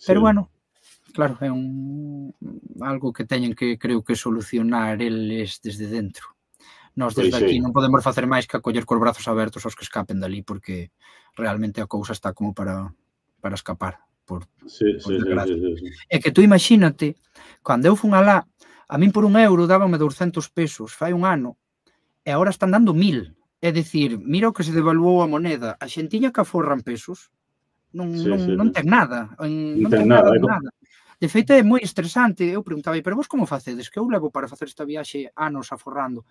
Pero, bueno, claro, é un algo que teñen que, creo que, solucionar eles desde dentro. Nós desde aquí non podemos facer máis que acoller cos brazos abertos aos que escapen dali, porque realmente a cousa está como para para escapar, por desgracia. É que tú imagínate, cando eu fun alá, a min por un euro dábame douscentos pesos fai un ano, e agora están dando mil. É dicir, mira o que se devaluou a moneda. A xentiña que aforran pesos non ten nada, non ten nada de nada. De feito, é moi estresante. Eu preguntaba, pero vos como facedes? Que eu levo para facer esta viaxe anos aforrando.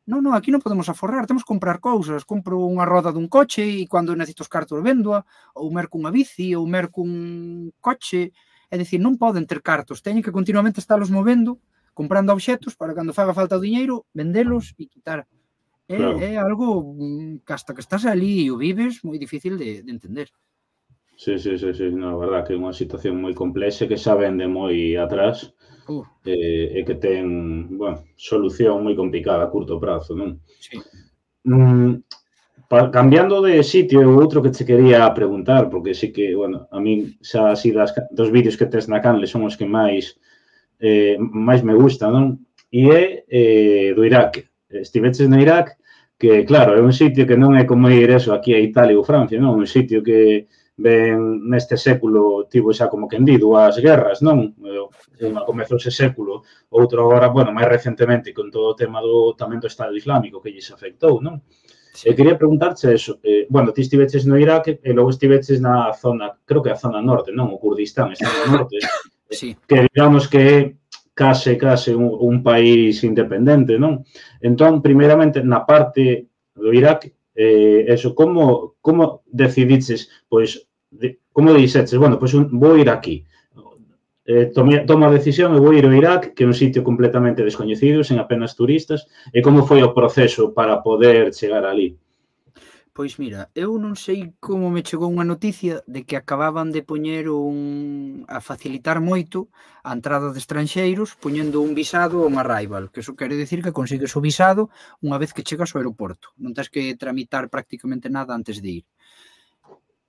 Non, non, aquí non podemos aforrar, temos que comprar cousas. Compro unha roda dun coche e cando necesito os cartos véndoa, ou merco unha bici, ou merco un coche. É dicir, non poden ter cartos, teñen que continuamente estalos movendo, comprando obxetos para cando faga falta o diñeiro, vendelos e quitar. É algo que hasta que estás ali e o vives moi difícil de entender. Sí, sí, sí, sí, na verdad que é unha situación moi complexa que xa vende moi atrás. Uh. E, e que ten, bueno, solución moi complicada a curto prazo, non? Sí. Mm, pa, cambiando de sitio, outro que te quería preguntar, porque sí que, bueno, a min xa así das, dos vídeos que tes na canle son os que máis eh, máis me gustan, non? E é eh, do Irak. Estiveches no Irak, que, claro, é un sitio que non é como ir eso aquí a Italia ou Francia, non? Un sitio que ben neste século tivo xa como quen di dúas guerras, non? Unha comezou ese século, outro agora, bueno, máis recentemente con todo o tema do tamén do Estado Islámico que lles afectou, non? Sí. E quería preguntarche eso, eh, bueno, ti estiveches no Irak e logo estiveches na zona, creo que a zona norte, non? O Kurdistán está no norte, sí. Que digamos que é case, case un, un país independente, non? Entón, primeiramente, na parte do Irak, Eh, eso, como, como decidiches, pois, de, como dixeches, bueno, pois un, vou ir aquí, eh, tome, tomo a decisión e vou ir ao Irak, que é un sitio completamente descoñecido, sen apenas turistas, e como foi o proceso para poder chegar ali? Pois mira, eu non sei como me chegou unha noticia de que acababan de poñer un... a facilitar moito a entrada de estranxeiros poñendo un visado ou un arrival, que eso quere dicir que consigues o visado unha vez que chegas ao aeroporto. Non tens que tramitar prácticamente nada antes de ir.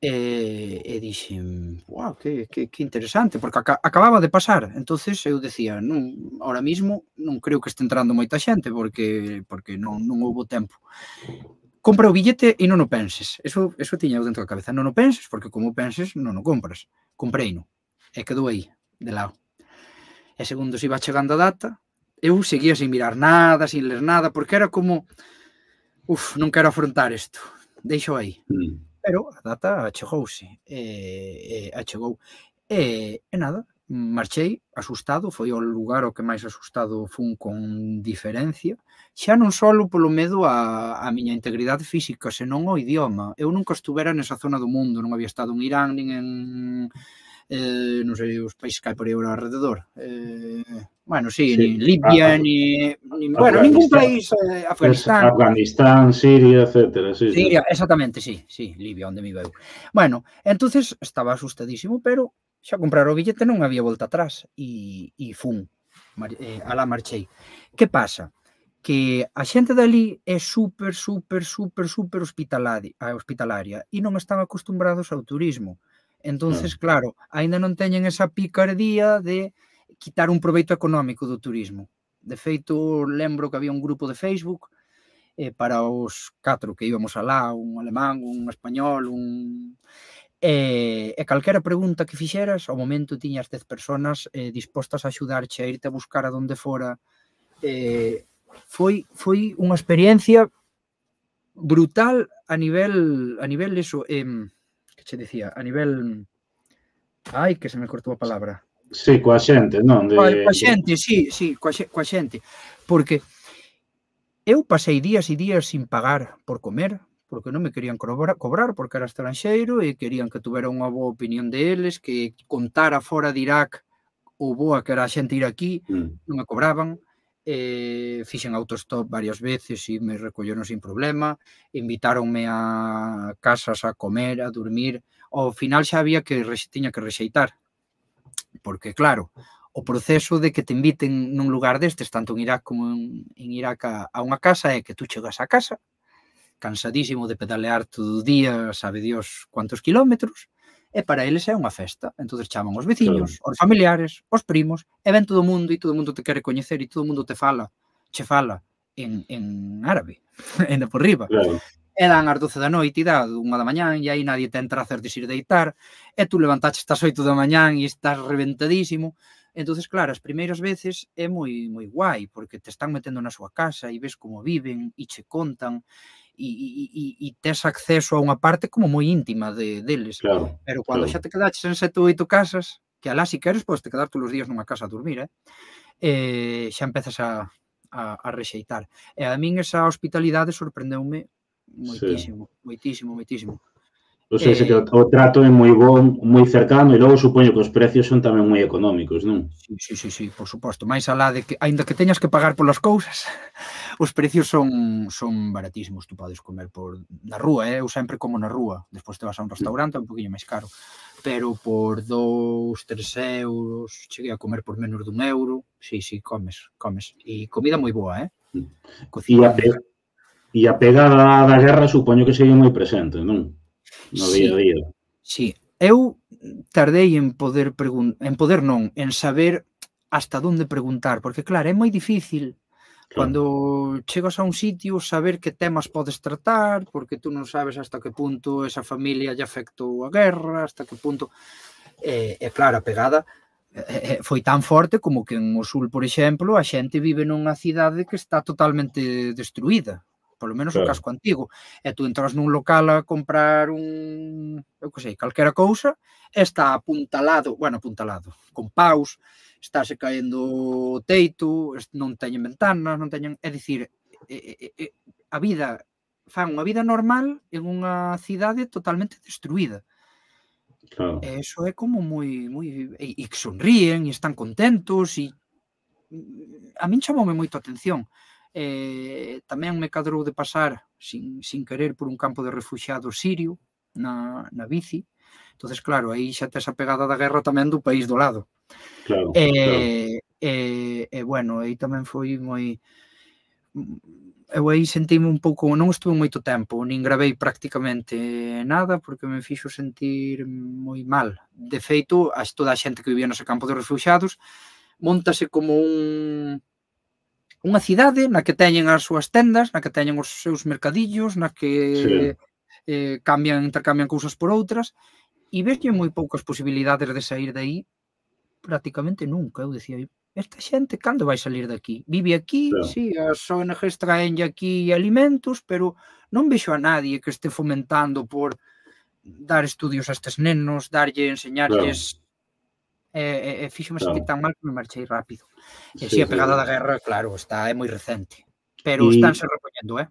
E, e dixen, wow, que, que, que interesante, porque ac acababa de pasar. Entonces eu decía, non, ahora mismo non creo que este entrando moita xente porque, porque non, non houbo tempo. Compra o billete e non o penses. Eso, eso tiña eu dentro da cabeza. Non o penses, porque como o penses, non o compras. Compreino. E quedou aí, de lado. E segundo se iba chegando a data, eu seguía sin mirar nada, sin ler nada, porque era como, uf, non quero afrontar isto. Deixo aí. Mm. Pero a data achegouse. E, e achegou. E, e nada, marchei asustado, foi o lugar o que máis asustado fun con diferencia, xa non só polo medo a, a miña integridade física, senón ao idioma. Eu nunca estuvera nesa zona do mundo, non había estado en Irán, nin en, eh, non sei, os países que hai por aí ao alrededor. Eh, bueno, sí, sí, nin Libia, ah, ni, ni bueno, ningún país, eh, Afganistán. Afganistán, Siria, etcétera. Sí, Siria, sí. Exactamente, sí, sí, Libia, onde me iba eu. Bueno, entonces estaba asustadísimo, pero xa comprar o billete non había volta atrás e, e fun, eh, alá marchei. Que pasa? Que a xente dali é super, super, super, super hospitalaria, hospitalaria e non están acostumbrados ao turismo. Entonces, claro, aínda non teñen esa picardía de quitar un proveito económico do turismo. De feito, lembro que había un grupo de Facebook eh, para os catro que íbamos alá, un alemán, un español, un... E, e calquera pregunta que fixeras, ao momento tiñas dez personas eh, dispostas a axudarche a irte a buscar a donde fora. Eh, foi, foi unha experiencia brutal a nivel, a nivel eso, eh, que che dicía, a nivel... Ai, que se me cortou a palabra. Sí, coa xente, non? Coa, De, coa de... xente, sí, sí, coa, coa xente. Porque eu pasei días e días sin pagar por comer, porque non me querían cobrar, cobrar porque era estranxeiro e querían que tuvera unha boa opinión deles, que contara fora de Irak o boa que era a xente ir aquí, Mm. non me cobraban. Eh, fixen autostop varias veces e me recolleron sin problema, invitáronme a casas a comer, a dormir. Ao final xa había que tiña que rexeitar, porque claro, o proceso de que te inviten nun lugar destes, tanto en Irak como en, en Irak a, a unha casa, é que tú chegas á casa cansadísimo de pedalear todo o día, sabe Dios cuántos kilómetros, e para eles é unha festa. Entonces chaman os veciños, Claro. os familiares, os primos, e ven todo o mundo e todo o mundo te quere coñecer e todo o mundo te fala, che fala en, en árabe, ainda por riba. Claro. E dan as doce da noite e dá unha da mañán e aí nadie te entra a hacer desir deitar e tú levantaches estas oito da mañán e estás reventadísimo. Entonces, claro, as primeiras veces é moi moi guai porque te están metendo na súa casa e ves como viven e che contan e, e, e, e tes acceso a unha parte como moi íntima de, deles. Claro, Pero cando claro. xa te quedaches en sete ou oito casas, que alá si queres podes te quedar todos os días nunha casa a dormir, eh? eh xa empezas a, a, a rexeitar. E a min esa hospitalidade sorprendeume Sí. moitísimo, moitísimo, moitísimo. O sea, ese que Eh, o, o trato é moi bon, moi cercano e logo supoño que os precios son tamén moi económicos, non? sí, sí, sí, sí, por suposto. Mais alá de que, aínda que teñas que pagar polas cousas, os precios son son baratísimos. Tú podes comer por na rúa, eh? Eu sempre como na rúa. Despois te vas a un restaurante, é un poquinho máis caro. Pero por dous, tres euros, cheguei a comer por menos dun euro. Sí, sí, comes, comes. E comida moi boa, eh? E a, Cociñan pe... e a pegada da guerra supoño que segue moi presente, non? No día a sí, día. sí. Eu tardei en poder preguntar, en poder non, en saber hasta onde preguntar, porque claro, é moi difícil Claro. cando chegas a un sitio saber que temas podes tratar, porque tú non sabes hasta que punto esa familia lle afectou a guerra, hasta que punto... E, e claro, a pegada e, foi tan forte como que en o sul, por exemplo, a xente vive nunha cidade que está totalmente destruída, polo menos o Claro. casco antigo, e tú entras nun local a comprar un, eu que sei, calquera cousa, e está apuntalado, bueno, apuntalado, con paus, estáse caendo o teito, non teñen ventanas, non teñen, é dicir, e, e, a vida, fan unha vida normal en unha cidade totalmente destruída. Claro. E eso é como moi, moi, e, e que sonríen e están contentos e a min chamoume moito a atención. Eh, tamén me cadrou de pasar sin, sin querer por un campo de refuxiados sirio na, na bici. Entonces, claro, aí xa tes a pegada da guerra tamén do país do lado. Claro, E, claro. e, e bueno, aí tamén foi moi... Eu aí sentime un pouco, non estuve moito tempo, nin gravei prácticamente nada porque me fixo sentir moi mal. De feito, a toda a xente que vivía nese campo de refuxiados montase como un unha cidade na que teñen as súas tendas, na que teñen os seus mercadillos, na que Sí. eh, cambian, intercambian cousas por outras, e veslle moi poucas posibilidades de sair de aí, prácticamente nunca. Eu decía, esta xente cando vai salir de aquí? Vive aquí, Claro. sí, as O N Ges traenlle aquí alimentos, pero non vexo a nadie que este fomentando por dar estudios a estes nenos, darlle, enseñarlles... E, e, e fíxome sentir Claro. tan mal que me marchei rápido. E si, Sí, a sí, pegada sí. da guerra, claro, está, é moi recente. Pero E estánse repoñendo, eh?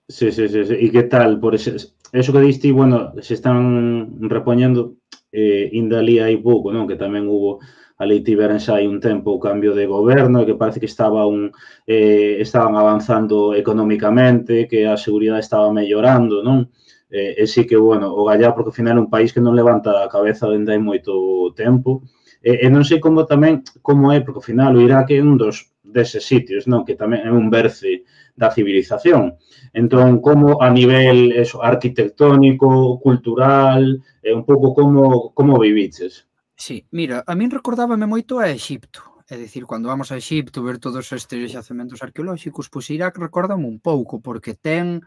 sí, sí, sí, sí. E que tal? Por ese, eso que diste, bueno, se están repoñendo, eh, inda ali hai pouco, non? Que tamén hubo, ali tiveran xa hai un tempo o cambio de goberno e que parece que estaba un, eh, estaban avanzando económicamente, que a seguridade estaba mellorando, non? Eh, e sí que, bueno, o Gallá, porque ao final é un país que non levanta a cabeza dende hai moito tempo. E, e non sei como tamén, como é, porque ao final o Irak é un dos deses sitios, non? Que tamén é un berce da civilización. Entón, como a nivel eso, arquitectónico, cultural, eh, un pouco como, como viviches? Sí, mira, a min recordábame moito a Exipto. É dicir, cando vamos a Exipto ver todos estes xacementos arqueolóxicos, pois Irak recórdame un pouco, porque ten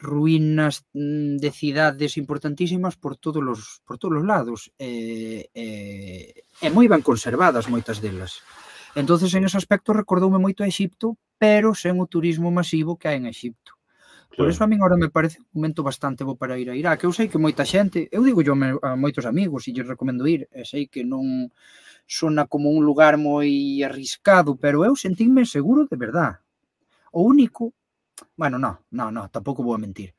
ruínas de cidades importantísimas por todos os, por todos os lados. E, e, e moi ben conservadas moitas delas. Entonces, en ese aspecto, recordoume moito a Exipto, pero sen o turismo masivo que hai en Exipto. Por Claro. eso a min agora me parece un momento bastante bo para ir a Irak. Eu sei que moita xente, eu digo yo a moitos amigos e lles recomendo ir, e sei que non sona como un lugar moi arriscado, pero eu sentínme seguro de verdad. O único, bueno, no, no, no, tampouco vou a mentir.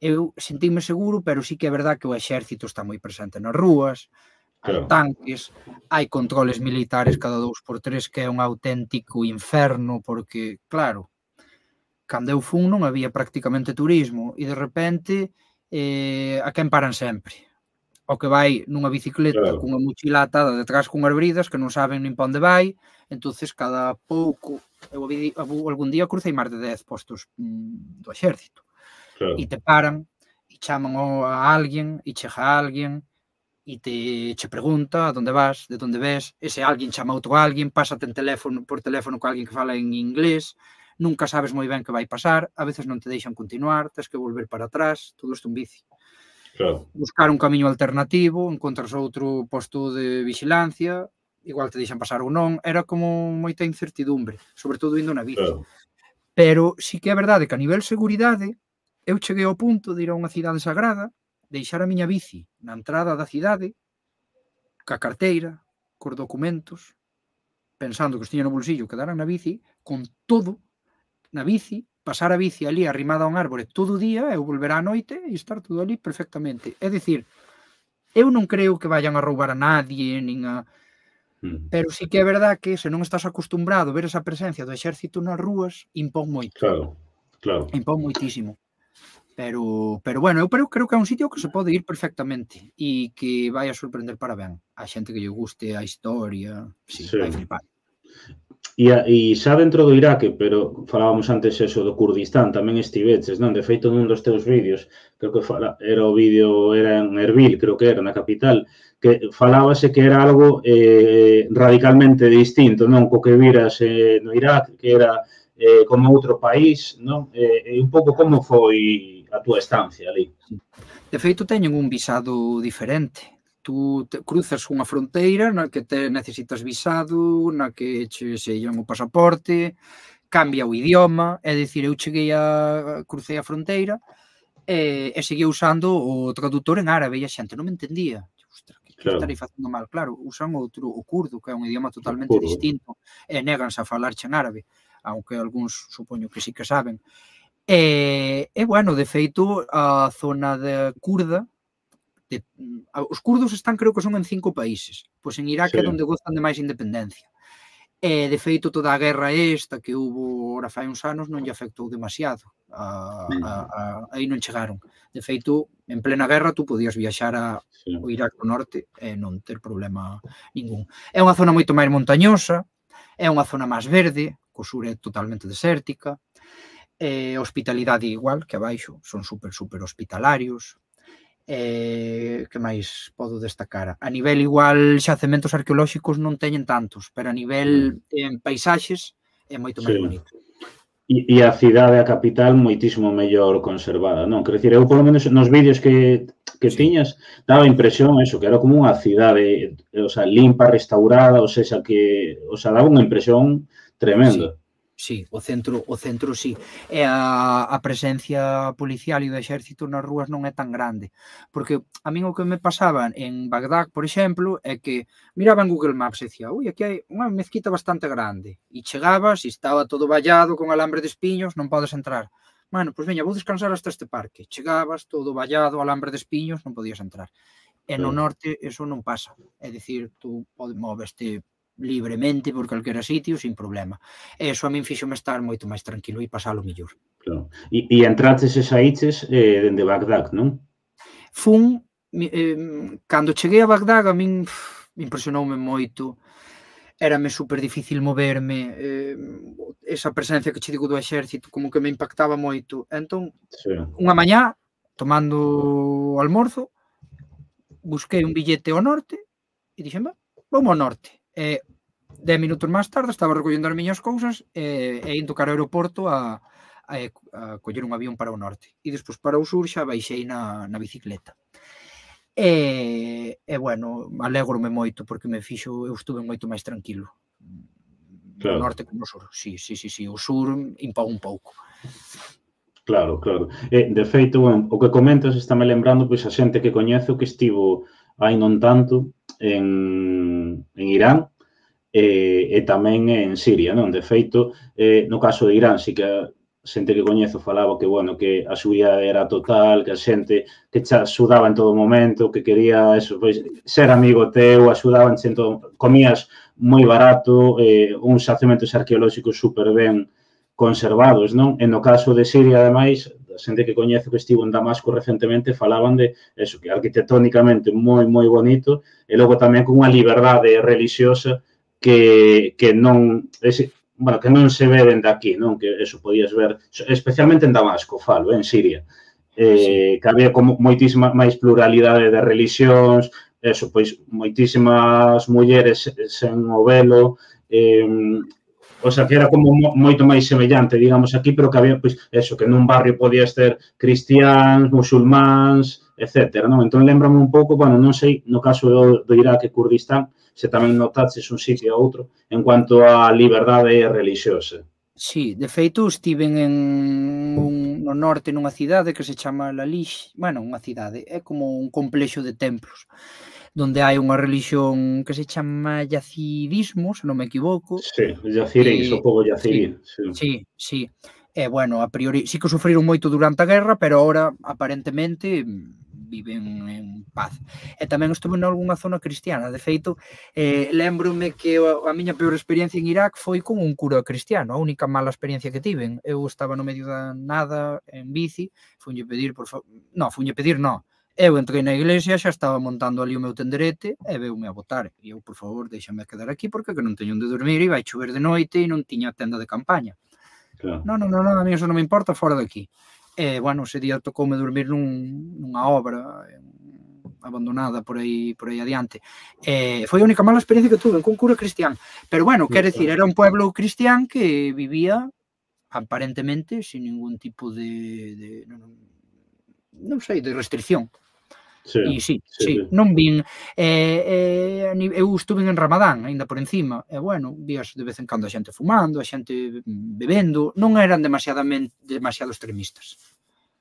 Eu sentínme seguro, pero sí que é verdad que o exército está moi presente nas rúas, hai Claro. tanques, hai controles militares cada dous por tres, que é un auténtico inferno, porque, claro, cando eu fun non había prácticamente turismo, e de repente eh, a quen paran sempre? O que vai nunha bicicleta Claro. cunha mochila atada detrás cunhas bridas que non saben nin pa onde vai, entonces cada pouco, eu algún día crucei máis de dez postos mm, do exército, Claro. e te paran, e chaman a alguén, e chega alguén, e te che pregunta a onde vas, de onde ves, ese alguén chama a outro alguén, pásate en teléfono, por teléfono con alguén que fala en inglés, nunca sabes moi ben que vai pasar, a veces non te deixan continuar, tens que volver para atrás, todo isto un bici. Claro. Buscar un camiño alternativo, encontras outro posto de vigilancia, igual te deixan pasar ou non, era como moita incertidumbre, sobre todo indo na bici. Claro. Pero sí que é verdade que a nivel seguridade, eu cheguei ao punto de ir a unha cidade sagrada, deixar a miña bici na entrada da cidade, ca carteira, cos documentos, pensando que os tiña no bolsillo, quedaran na bici, con todo na bici, pasar a bici ali arrimada a un árbore todo o día, eu volver á noite e estar todo ali perfectamente. É dicir, eu non creo que vayan a roubar a nadie, nin a... Mm. Pero sí que é verdad que se non estás acostumbrado a ver esa presencia do exército nas rúas, impón moito. Claro, claro. Impón moitísimo. Pero, pero bueno, eu creo, creo que é un sitio que se pode ir perfectamente e que vai a sorprender para ben. A xente que lle guste a historia, sí, Sí. vai flipar. E, a, e xa dentro do Iraque, pero falábamos antes eso do Kurdistán, tamén estiveches, non? De feito, nun dos teus vídeos, creo que fala, era o vídeo, era en Erbil, creo que era, na capital, que falábase que era algo eh, radicalmente distinto, non? Co que viras eh, no Iraque, que era eh, como outro país, non? E eh, un pouco como foi a túa estancia ali. De feito, teñen un visado diferente. Tú te cruzas unha fronteira na que te necesitas visado, na que che sellan o pasaporte, cambia o idioma, é dicir, eu cheguei a crucei a fronteira e, e seguía usando o traductor en árabe e a xente non me entendía. Ostras, que, que Claro. estarei facendo mal? Claro, usan outro, o curdo, que é un idioma totalmente Curdo. distinto, e néganse a falarche en árabe, aunque algúns supoño que sí que saben. E, e bueno, de feito, a zona de kurda, de, os curdos están, creo que son en cinco países, pois en Irak Sí. é onde gozan de máis independencia. E, de feito, toda a guerra esta que hubo ora fai uns anos non lle afectou demasiado. A, a, a, aí non chegaron. De feito, en plena guerra, tú podías viaxar a, Sí. o Irak do Norte e non ter problema ningún. É unha zona moito máis montañosa, é unha zona máis verde, co sur é totalmente desértica, e hospitalidade igual que abaixo, son super, super hospitalarios. Eh, que máis podo destacar? A nivel igual xacementos arqueolóxicos non teñen tantos, pero a nivel en paisaxes é moito máis Sí. bonito. E, e a cidade, a capital, moitísimo mellor conservada, non? Quero dicir, eu, polo menos, nos vídeos que, que Sí. tiñas, daba a impresión, eso, que era como unha cidade, o sea, limpa, restaurada, ou seja, que, o sea, daba unha impresión tremenda. Sí, o centro, o centro sí. E a, a presencia policial e do exército nas rúas non é tan grande. Porque a min o que me pasaba en Bagdad, por exemplo, é que miraba en Google Maps e dicía, ui, aquí hai unha mezquita bastante grande. E chegabas e estaba todo vallado con alambre de espiños, non podes entrar. Bueno, pois veña, vou descansar hasta este parque. Chegabas, todo vallado, alambre de espiños, non podías entrar. E no Claro. norte eso non pasa. É dicir, tú podes moveste libremente por calquera sitio sin problema. E iso a min fíxome estar moito máis tranquilo e pasalo mellor. Claro. E, e entraches e saíches eh, dende Bagdad, non? Fun, eh, cando cheguei a Bagdad, a min pff, impresionoume moito, érame super difícil moverme, eh, esa presencia que che digo do exército como que me impactaba moito. Entón, Sí. unha mañá, tomando o almorzo, busquei un billete ao norte e dixen, va, vamos ao norte. E dez minutos máis tarde estaba recollendo as miñas cousas e, e indo cara ao aeroporto a, a, a coller un avión para o norte. E despois para o sur xa baixei na, na bicicleta. E, e bueno, alégrome moito porque me fixo, eu estuve moito máis tranquilo. Claro. No norte que no sur. Sí, sí, sí, sí. O sur impón un pouco. Claro, claro. E, de feito, bueno, o que comentas está me lembrando pois a xente que coñezo que estivo hai non tanto en, en Irán e, e tamén en Siria, non? De feito, eh, no caso de Irán, sí que a xente que coñezo falaba que, bueno, que a seguridade era total, que a xente que te axudaba en todo momento, que quería eso, pois, ser amigo teu, axudaban en todo, comías moi barato, eh, uns xacementos arqueolóxicos super ben conservados, non? E no caso de Siria, ademais, a xente que coñece que estivo en Damasco recentemente falaban de eso, que arquitectónicamente moi, moi bonito, e logo tamén con unha liberdade religiosa que, que non ese, bueno, que non se ve dende aquí, non? Que eso podías ver, especialmente en Damasco, falo, en Siria. Eh, sí. Que había como moitísima máis pluralidade de religións, eso, pois, moitísimas mulleres sen o velo, eh, o sea, que era como moito máis semellante, digamos, aquí, pero que había, pois, eso, que nun barrio podías ter cristiáns, musulmáns, etcétera, non? Entón, lembrame un pouco, bueno, non sei, no caso do, do Irak e Kurdistán, se tamén notaches un sitio a outro en cuanto a liberdade religiosa. Sí, de feito, estiven en un, no norte nunha cidade que se chama Lalish, bueno, unha cidade, é como un complexo de templos, donde hai unha religión que se chama yacidismo, se non me equivoco. Sí, yaciríns, o povo yacirí. Sí, sí, sí. E, bueno, a priori, sí que sufriron moito durante a guerra, pero ahora, aparentemente, viven en paz. E tamén estuve en algunha zona cristiana. De feito, eh, lembrome que a miña peor experiencia en Irak foi con un cura cristiano, a única mala experiencia que tiven. Eu estaba no medio da nada, en bici, funlle pedir, por favor... No, funlle pedir, no. Eu entrei na iglesia, xa estaba montando ali o meu tenderete e veume a botar. E eu, por favor, déxame quedar aquí porque que non teño onde dormir e vai chover de noite e non tiña tenda de campaña. Claro. Non, non, non, a mí eso non me importa, fora de aquí. E, bueno, ese día tocoume dormir nun, nunha obra abandonada por aí, por aí adiante. E foi a única mala experiencia que tuve con cura cristián. Pero, bueno, quer decir, era un pueblo cristián que vivía aparentemente sin ningún tipo de, de non, non sei, de restricción. Sí, e sí, sí, sí, non vin, eh, eh, eu estuve en Ramadán, ainda por encima, e, bueno, vías de vez en cando a xente fumando, a xente bebendo, non eran demasiadamente, demasiado extremistas.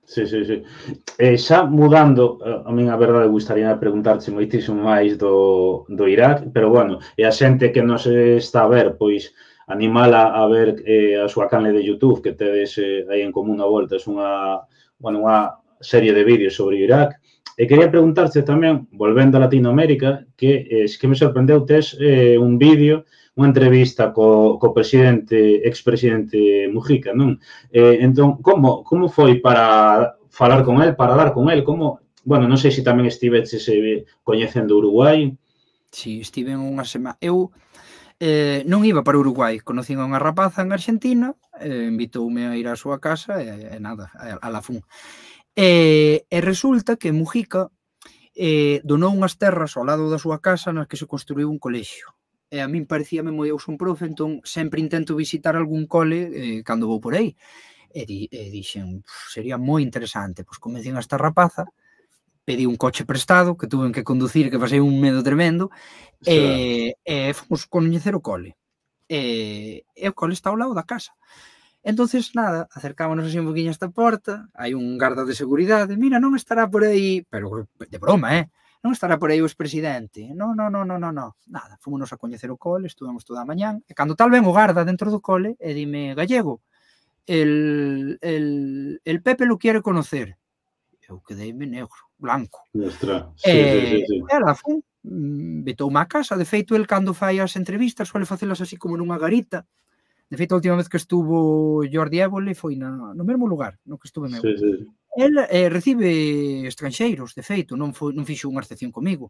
Sí, sí, sí. Eh, xa mudando, a min a verdade gustaría preguntarche moitísimo máis do, do Irak, pero, bueno, e a xente que nos está a ver, pois, animala a ver eh, a súa canle de YouTube, que tedes eh, aí en común a volta, é unha, bueno, unha serie de vídeos sobre Irak. E quería preguntarche tamén, volvendo a Latinoamérica, que es que me sorprendeu, tes eh, un vídeo, unha entrevista co, co presidente, expresidente Mujica, non? Eh, entón, como, como foi para falar con el, para dar con el? Como, bueno, non sei se tamén estiveches eh, coñecendo Uruguai. Sí, estive unha semana. Eu eh, non iba para Uruguai, conocín a unha rapaza en Argentina, eh, invitoume a ir á súa casa e, e nada, a, a la fun. E, e resulta que Mujica eh, donou unhas terras ao lado da súa casa nas que se construiu un colexio. E a min parecíame moi, eu son profe, entón sempre intento visitar algún cole eh, cando vou por aí. E, di, e dixen, sería moi interesante. Pois convencín a esta rapaza, pedí un coche prestado, que tuve que conducir, que pasei un medo tremendo, e, e fomos coñecer o cole. E, e o cole está ao lado da casa. Entonces, nada, acercámonos así un poquinho a esta porta, hai un garda de seguridade, mira, non estará por aí, pero de broma, eh? Non estará por aí o expresidente. Non, non, non, non, non, nada, fomos a coñecer o cole, estuvamos toda a mañán, e cando tal ven o garda dentro do cole, e dime, Gallego, el, el, el Pepe lo quiere conocer. Eu quedeime negro, blanco. Ostra, sí, e, sí, sí, sí. E la fun, vetoume a casa, de feito, el cando fai as entrevistas, suele facelas así como nunha garita. De feito, a última vez que estuvo Jordi Évole foi na, no mesmo lugar no que estuve meu. Sí, sí. El eh, recibe estranxeiros, de feito, non, foi, non fixo unha excepción comigo.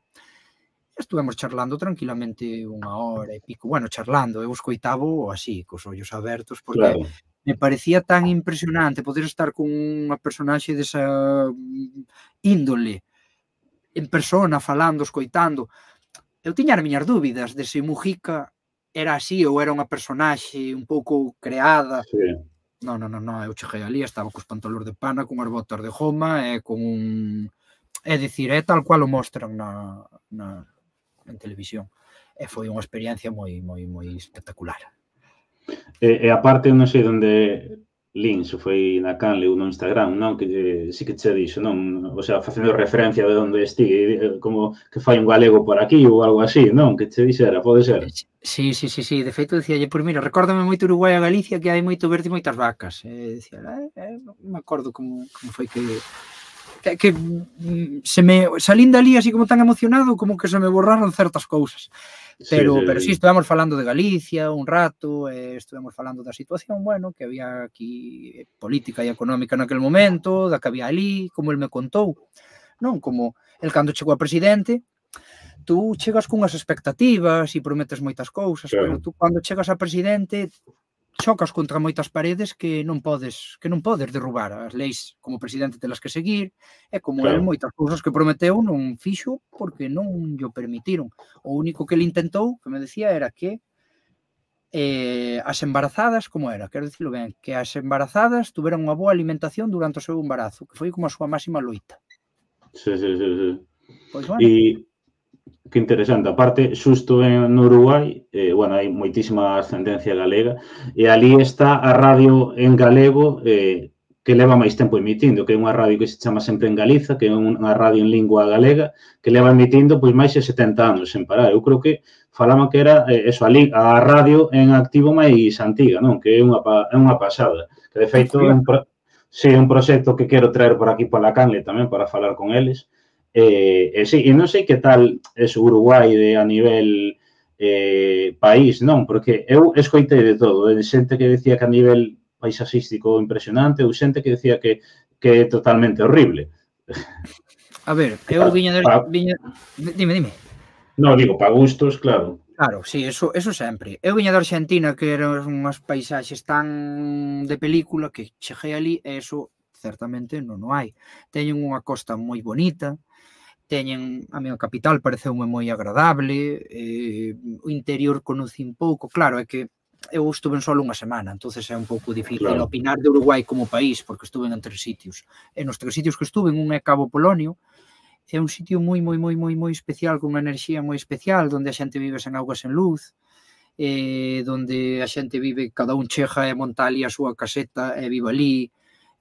Estuvemos charlando tranquilamente unha hora e pico. Bueno, charlando, eu escoitavo así, cos ollos abertos, porque claro, me parecía tan impresionante poder estar con unha personaxe desa índole, en persona, falando, escoitando. Eu tiña as miñas dúbidas de se Mujica era así ou era unha personaxe un pouco creada. Sí. Non, non, non, eu cheguei ali, estaba cos pantalones de pana, con as botas de goma e con un... É dicir, é tal cual o mostran na, na, en televisión. E foi unha experiencia moi, moi, moi espectacular. E, e aparte, non sei onde lin, se foi na canle ou no Instagram, non? Que eh, sí que che dixo, non? O sea, facendo referencia de onde esti, eh, como que fai un galego por aquí ou algo así, non? Que che dixera, pode ser? Sí, sí, sí, sí. De feito, dicíalle, pois mira, recórdame moito Uruguai a Galicia que hai moito verde e moitas vacas. E dicía, eh, eh, non me acordo como, como foi que... que, que se me salín dali así como tan emocionado como que se me borraron certas cousas. Pero, sí, sí, pero sí, estuvemos falando de Galicia un rato, eh, estuvemos falando da situación, bueno, que había aquí política e económica naquel momento, da que había ali, como el me contou, non? Como el cando chegou a presidente, tú chegas cunhas expectativas e prometes moitas cousas, claro. Pero tú cando chegas a presidente chocas contra moitas paredes que non podes que non podes derrubar. As leis como presidente telas que seguir, e como claro. El moitas cousas que prometeu non fixo porque non llo permitiron. O único que ele intentou, que me decía, era que eh, as embarazadas, como era? Quero dicirlo ben, que as embarazadas tuveran unha boa alimentación durante o seu embarazo, que foi como a súa máxima loita. Sí, sí, sí, sí. Pois bueno. E que interesante. Aparte, xusto en Uruguai, eh, bueno, hai moitísima ascendencia galega, e ali está a radio en galego eh, que leva máis tempo emitindo, que é unha radio que se chama Sempre en Galiza, que é unha radio en lingua galega, que leva emitindo pois máis de setenta anos sen parar. Eu creo que falaban que era eh, eso, a, a radio en activo máis antiga, non? Que é unha, é unha pasada. Que, de feito, é un, pro, sí, un proxecto que quero traer por aquí pola Canle tamén para falar con eles. Eh, eh, sí, e non sei que tal é o Uruguai de, a nivel eh, país, non? Porque eu escoitei de todo, de xente que decía que a nivel paisaxístico impresionante ou xente que decía que, que é totalmente horrible. A ver, eu viña de... Viña... Dime, dime. Non, digo, para gustos, claro. Claro, sí, eso, eso sempre. Eu viña de Argentina, que eran unhas paisaxes tan de película que cheguei ali e eso certamente non o hai. Teñen unha costa moi bonita, teñen, a miña capital pareceume moi agradable, eh, o interior conocín pouco, claro, é que eu estuve en solo unha semana, entonces é un pouco difícil claro. Opinar de Uruguai como país, porque estuve en tres sitios. E nos tres sitios que estuve, un é Cabo Polonio, é un sitio moi, moi, moi, moi, moi especial, con unha enerxía moi especial, onde a xente vive sen auga, sen luz, eh, onde a xente vive, cada un chega e monta ali a súa caseta e vive ali,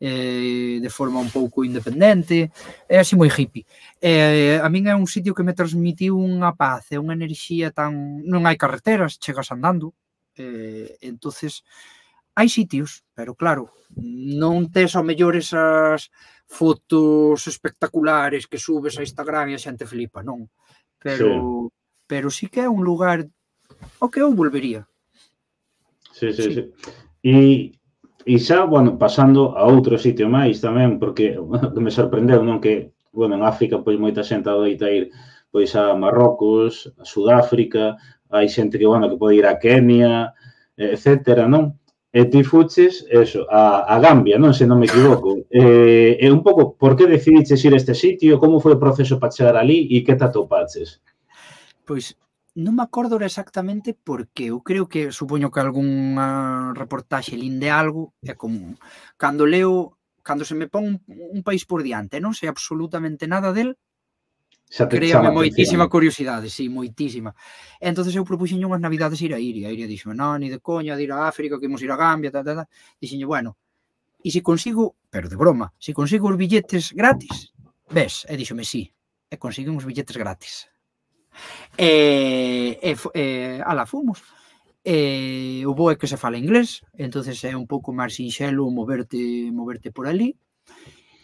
Eh, de forma un pouco independente, é así moi hippie. Eh, a min é un sitio que me transmitiu unha paz e unha enerxía tan... Non hai carreteras, chegas andando, eh, entonces hai sitios, pero claro, non tes ao mellor esas fotos espectaculares que subes a Instagram e a xente flipa, non. Pero, sí. pero sí que é un lugar ao que eu volvería. Sí, sí, sí. sí. E... E xa, bueno, pasando a outro sitio máis tamén, porque bueno, que me sorprendeu, non? Que, bueno, en África, pois, moita xente adoita ir pois a Marrocos, a Sudáfrica, hai xente que, bueno, que pode ir a Kenia, etcétera, non? E ti fuches, eso, a, a Gambia, non? Se non me equivoco. E, e un pouco, por que decidiches ir a este sitio? Como foi o proceso para chegar ali e que te atopaches? Pois... Non me acordo exactamente porque eu creo que, supoño que algunha reportaxe linde algo, é como, cando leo, cando se me pon un, un país por diante, non sei absolutamente nada del, créame moitísima curiosidade, sí, moitísima. E entonces eu propuxenlle unhas navidades ir a Iria, a Iria dixo, non, ni de coña, de ir a África, que imos ir a Gambia, tal, tal, tal. Dixenlle, bueno, e se consigo, pero de broma, se consigo os billetes gratis, ves, e dixome, sí, e consigo uns billetes gratis. E, e, e ala, fomos. E o bo é que se fala inglés, entonces é un pouco máis sinxelo moverte moverte por ali.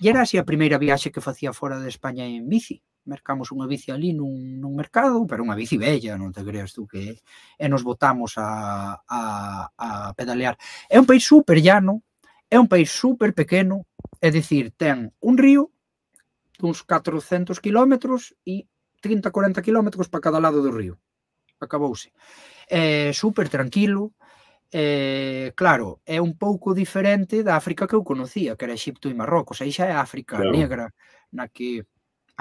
E era así a primeira viaxe que facía fora de España en bici. Mercamos unha bici ali nun, nun mercado, pero unha bici bella, non te creas tú que... E nos botamos a, a, a pedalear. É un país super llano, é un país super pequeno, é dicir, ten un río duns catrocentos kilómetros e trinta a cuarenta kilómetros para cada lado do río. Acabouse. É super tranquilo. É, claro, é un pouco diferente da África que eu conocía, que era Egipto e Marrocos. Aí xa é África claro. Negra, na que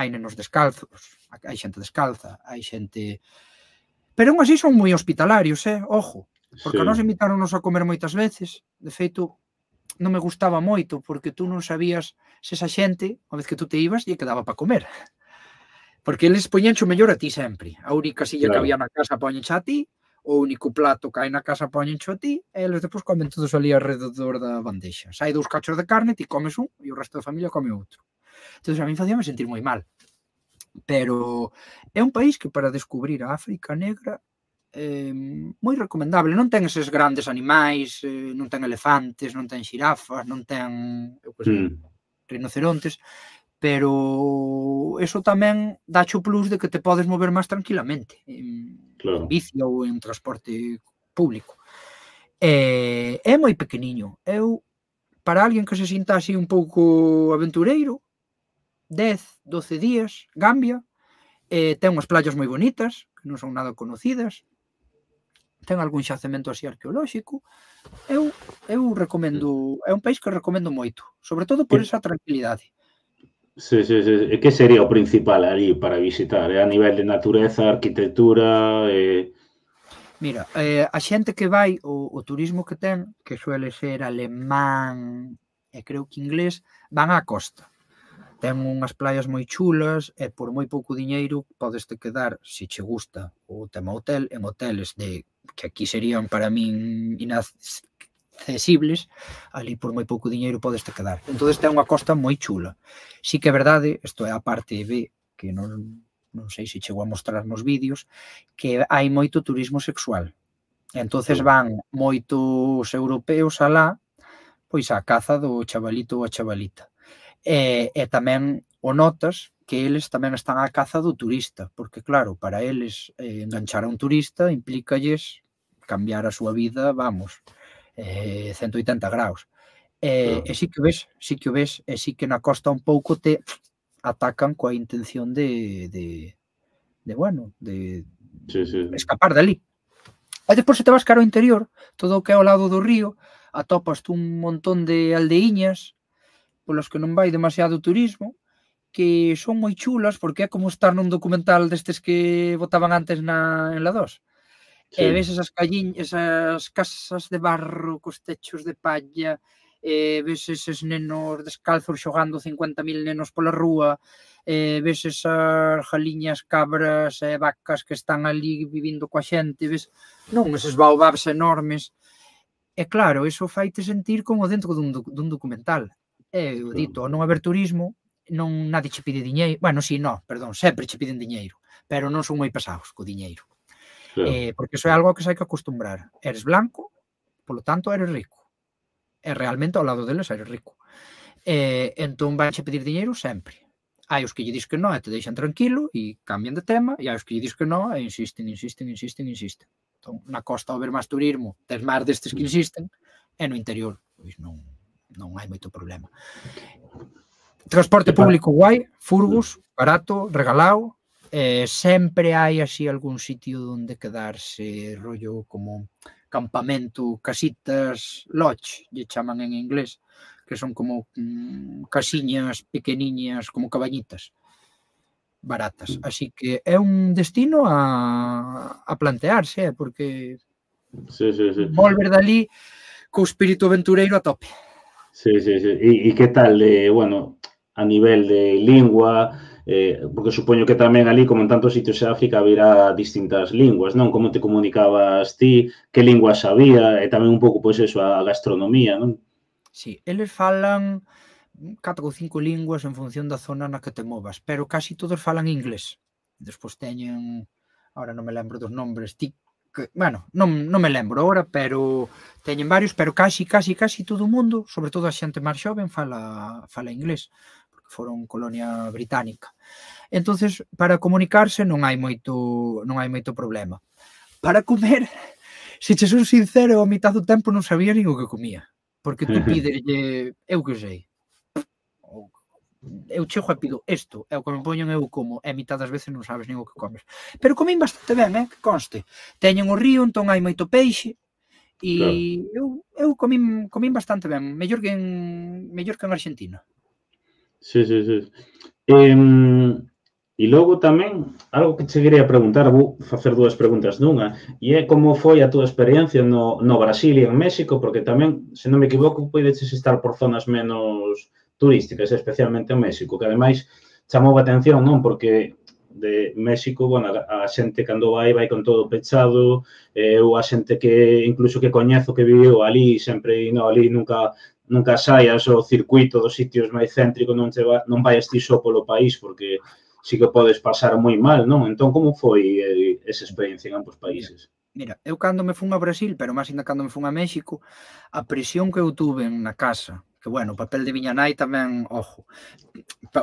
hai nenos descalzos, hai xente descalza, hai xente... Pero aún así son moi hospitalarios, eh? Ojo. Porque sí. A nos invitaronnos a comer moitas veces. De feito, non me gustaba moito, porque tú non sabías se esa xente, unha vez que tú te ibas, lle quedaba para comer. Porque eles poñencho mellor a ti sempre. A única silla claro. Que había na casa poñencha a ti, o único plato que hai na casa poñencho a ti, e eles depois comen todos ali alrededor da bandexa. Sai dous cachos de carne, ti comes un, e o resto da familia come outro. Entón, a mí facíame sentir moi mal. Pero é un país que para descubrir a África negra é moi recomendable. Non ten eses grandes animais, non ten elefantes, non ten xirafas, non ten, eu que sei, mm. rinocerontes, pero eso tamén dacho plus de que te podes mover máis tranquilamente en, claro. en bici ou en transporte público. É, é moi pequeniño. Eu, para alguén que se sinta así un pouco aventureiro, dez, doce días, Gambia, eh, ten unhas playas moi bonitas, que non son nada conocidas, ten algún xacemento así arqueolóxico. Eu, eu recomendo, é un país que recomendo moito, sobre todo por esa tranquilidade. Sí, sí, sí. E que sería o principal ali para visitar? A nivel de natureza, arquitectura... Eh... Mira, eh, a xente que vai, o, o turismo que ten, que suele ser alemán e creo que inglés, van á costa. Ten unhas playas moi chulas e por moi pouco diñeiro podes te quedar, se che gusta o tema hotel, en hoteles de que aquí serían para min inaccesibles, ali por moi pouco diñeiro podes te quedar. Entón ten unha costa moi chula. Si que é verdade, isto é a parte B, que non, non sei se chego a mostrar nos vídeos, que hai moito turismo sexual. Entón van moitos europeos alá, pois a caza do chavalito ou a chavalita. E, e tamén o notas que eles tamén están á caza do turista, porque claro, para eles eh, enganchar a un turista implícalles cambiar a súa vida, vamos, eh, ciento oitenta graus. E, e sí que o ves, sí que o ves, e sí que na costa un pouco te atacan coa intención de, de, de bueno, de sí, sí. escapar dali. E despois se te vas cara ao interior, todo o que é ao lado do río, atopas un montón de aldeíñas polos que non vai demasiado turismo, que son moi chulas, porque é como estar nun documental destes que botaban antes na, en la dos. Sí. E ves esas calliñas, esas casas de barro, cos techos de palla, e ves eses nenos descalzos xogando cincuenta mil nenos pola rúa, e ves esas jaliñas, cabras e vacas que están ali vivindo coa xente, ves, non, eses baobabs enormes. E claro, eso faite sentir como dentro dun, dun documental. É o dito, ao non haber turismo, non nadie che pide diñeiro. Bueno, si, non, perdón, sempre che piden diñeiro, pero non son moi pesados co diñeiro. Claro. Eh, porque iso é algo que se hai que acostumbrar. Eres blanco, polo tanto eres rico. E realmente ao lado deles eres rico. Eh, entón vai che pedir diñeiro sempre. Hai os que lle dis que non e te deixan tranquilo e cambian de tema, e hai os que lle dis que non e insisten, insisten, insisten, insisten. Entón, na costa ao ver máis turismo, tes máis destes que insisten, e no interior, pois non... non hai moito problema. Transporte público guai, furgos, barato, regalado, eh, sempre hai así algún sitio onde quedarse, rollo como campamento, casitas, lodge, lle chaman en inglés, que son como mm, casiñas pequeniñas, como cabañitas, baratas. Así que é un destino a, a plantearse, eh, porque sí, sí, sí. volver dali co espírito aventureiro a tope. Sí, sí, sí. E, e que tal, de, bueno, a nivel de lingua, eh, porque supoño que tamén ali, como en tantos sitios de África, haberá distintas linguas, non? Como te comunicabas ti, que lingua sabía, e tamén un pouco, pois, eso, a gastronomía, non? Sí, eles falan catro ou cinco linguas en función da zona na que te movas, pero casi todos falan inglés. Despois teñen, ahora non me lembro dos nombres, ti que, bueno, non, non me lembro agora, pero teñen varios, pero casi, casi, casi todo o mundo, sobre todo a xente máis xoven, fala, fala inglés, porque foron colonia británica. Entonces, para comunicarse non hai moito, non hai moito problema. Para comer, se che son sincero, a mitad do tempo non sabía nin o que comía, porque tú pídelle, eu que sei, eu chego e pido isto, é o que me poñen eu como, e a mitad das veces non sabes nin o que comes. Pero comín bastante ben, eh, que conste. Teñen o río, entón hai moito peixe, e claro. eu, eu comín, comín bastante ben, mellor que en, mellor que en Argentina. Sí, sí, sí. Eh, e logo tamén, algo que che quería preguntar, vou facer dúas preguntas nunha, e é como foi a túa experiencia no, no Brasil e en México, porque tamén, se non me equivoco, podeches estar por zonas menos turísticas, especialmente en México, que ademais chamou a atención, non? Porque de México, bueno, a xente cando vai, vai con todo pechado, eu a xente que, incluso que coñezo que viviu ali, sempre, no, ali nunca nunca saias o circuito dos sitios máis céntricos, non, te va, non vai ti só polo país, porque sí que podes pasar moi mal, non? Entón, como foi eh, esa experiencia en ambos países? Mira, eu cando me fun a Brasil, pero máis ainda cando me fun a México, a presión que eu tuve na casa, que, bueno, o papel de miña nai tamén, ojo,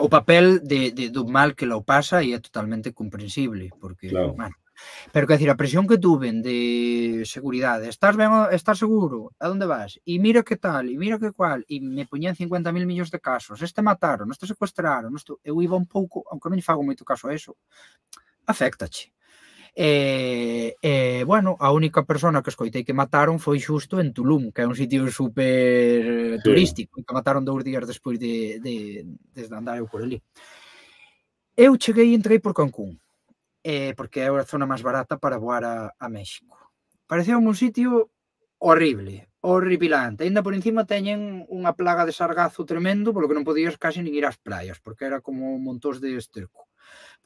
o papel de, de, do mal que lo pasa e é totalmente comprensible, porque, claro. bueno, pero, quer decir, a presión que tuven de seguridade, estás ben, estás seguro, a onde vas? E mira que tal, e mira que cual, e me poñían cincuenta mil millóns de casos, este mataron, este secuestraron, este... eu iba un pouco, aunque non lle fago moito caso a eso, afectache. E, e, bueno, a única persona que escoitei que mataron foi xusto en Tulum, que é un sitio super turístico, sí, que mataron dous días despois de, de, de andar eu por ali. Eu cheguei e entrei por Cancún, eh, porque é a zona máis barata para voar a, a México. Pareceu un sitio horrible, horripilante. Ainda por encima teñen unha plaga de sargazo tremendo, polo que non podías casi nin ir ás praias, porque era como montós de esterco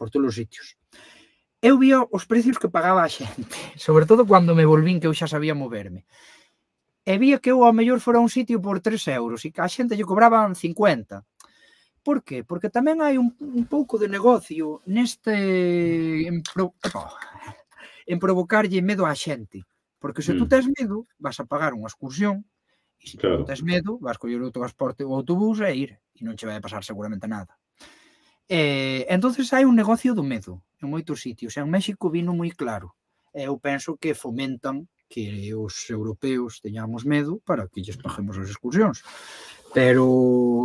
por todos os sitios. Eu vía os precios que pagaba a xente, sobre todo cando me volvín que eu xa sabía moverme. E vía que eu ao mellor fora un sitio por tres euros e que a xente lle cobraban cincuenta. Por qué? Porque tamén hai un, un pouco de negocio neste en, pro, en provocarlle medo á xente. Porque se mm. tú tes medo, vas a pagar unha excursión e se claro. tú tes medo, vas coller o transporte ou autobús e ir e non che vai a pasar seguramente nada. Eh, entonces hai un negocio do medo en moitos sitios. En México vino moi claro. Eu penso que fomentan que os europeos teñamos medo para que lles paguemos as excursións. Pero,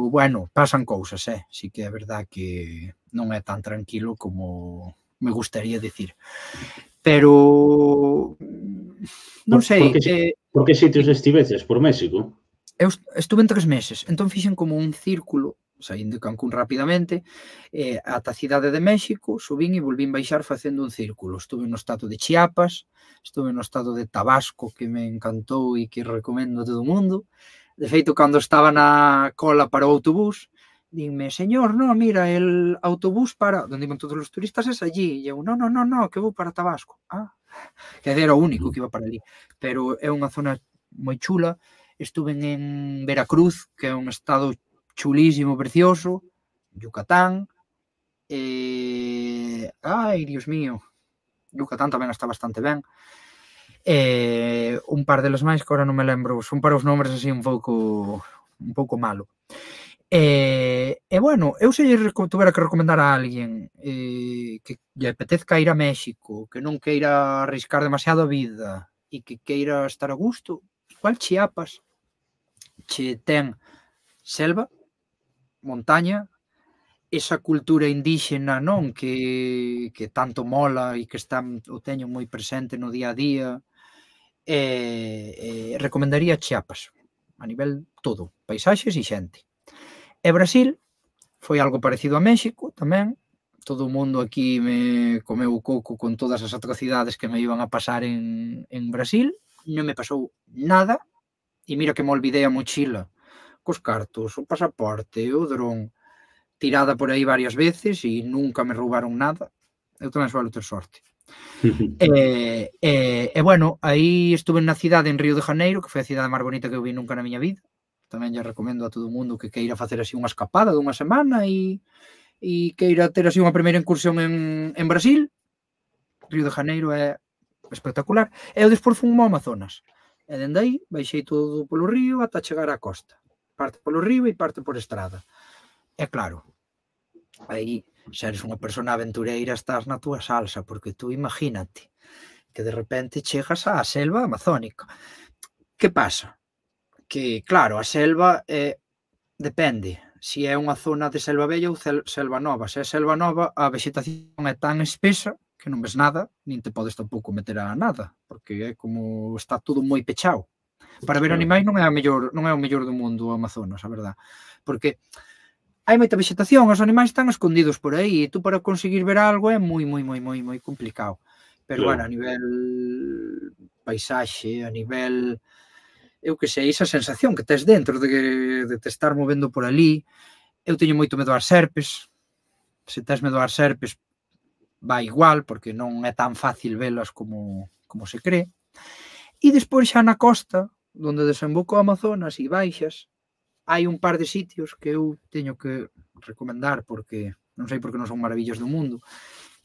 bueno, pasan cousas, eh? Sí que é verdad que non é tan tranquilo como me gustaría decir. Pero, non sei... Por que, eh, por que sitios estiveches? Por México? Eu estuve en tres meses, entón fixen como un círculo, saín de Cancún rapidamente, eh, ata a cidade de México, subín e volvín baixar facendo un círculo. Estuve no estado de Chiapas, estuve no estado de Tabasco, que me encantou e que recomendo a todo o mundo. De feito, cando estaba na cola para o autobús, dime, señor, no, mira, el autobús para... Donde iban todos os turistas es allí. E eu, no, no, no, no, que vou para Tabasco. Ah, que era o único que iba para allí. Pero é unha zona moi chula. Estuve en Veracruz, que é un estado chulísimo, precioso, Yucatán, e... ai, Dios mío, Yucatán tamén está bastante ben, e un par deles máis que agora non me lembro, son para os nombres así un pouco un pouco malo. E, e bueno, eu se lle tuvera que recomendar a alguén eh, que lle apetezca ir a México, que non queira arriscar demasiado a vida e que queira estar a gusto, igual Chiapas che ten selva, montaña, esa cultura indígena, non, que, que tanto mola e que está, o teño moi presente no día a día. E, e recomendaría Chiapas, a nivel todo, paisaxes e xente. E Brasil foi algo parecido a México tamén. Todo o mundo aquí me comeu o coco con todas as atrocidades que me iban a pasar en, en Brasil. Non me pasou nada. E mira que me olvidei a mochila cos cartos, o pasaporte, o dron, tirada por aí varias veces e nunca me roubaron nada. Eu tamén suelo ter sorte. e, e, e, bueno, aí estuve na cidade en Río de Janeiro, que foi a cidade máis bonita que eu vi nunca na miña vida. Tamén lle recomendo a todo o mundo que queira facer así unha escapada dunha semana e, e queira ter así unha primeira incursión en, en Brasil. Río de Janeiro é espectacular. E eu despois fui ao Amazonas. E dende aí baixei todo polo río ata chegar á costa. Parte polo río e parte por estrada. É claro, aí xa eres unha persona aventureira, estás na túa salsa, porque tú imagínate que de repente chegas á selva amazónica. Que pasa? Que, claro, a selva é, depende, se é unha zona de selva bella ou selva nova. Se é selva nova, a vegetación é tan espesa que non ves nada, nin te podes tampouco meter a nada, porque é como está todo moi pechado. Para ver animais non é, a mellor, non é o mellor do mundo o Amazonas, a verdad. Porque hai moita vegetación, os animais están escondidos por aí, e tú para conseguir ver algo é moi, moi, moi, moi, moi complicado. Pero, bueno, a nivel paisaxe, a nivel, eu que sei, esa sensación que tes dentro de, de te estar movendo por ali. Eu teño moito medo ás serpes. Se tes medo ás serpes, vai igual, porque non é tan fácil velas como, como se cree. E despois xa na costa, onde desemboca o Amazonas e baixas, hai un par de sitios que eu teño que recomendar, porque non sei porque non son maravillas do mundo,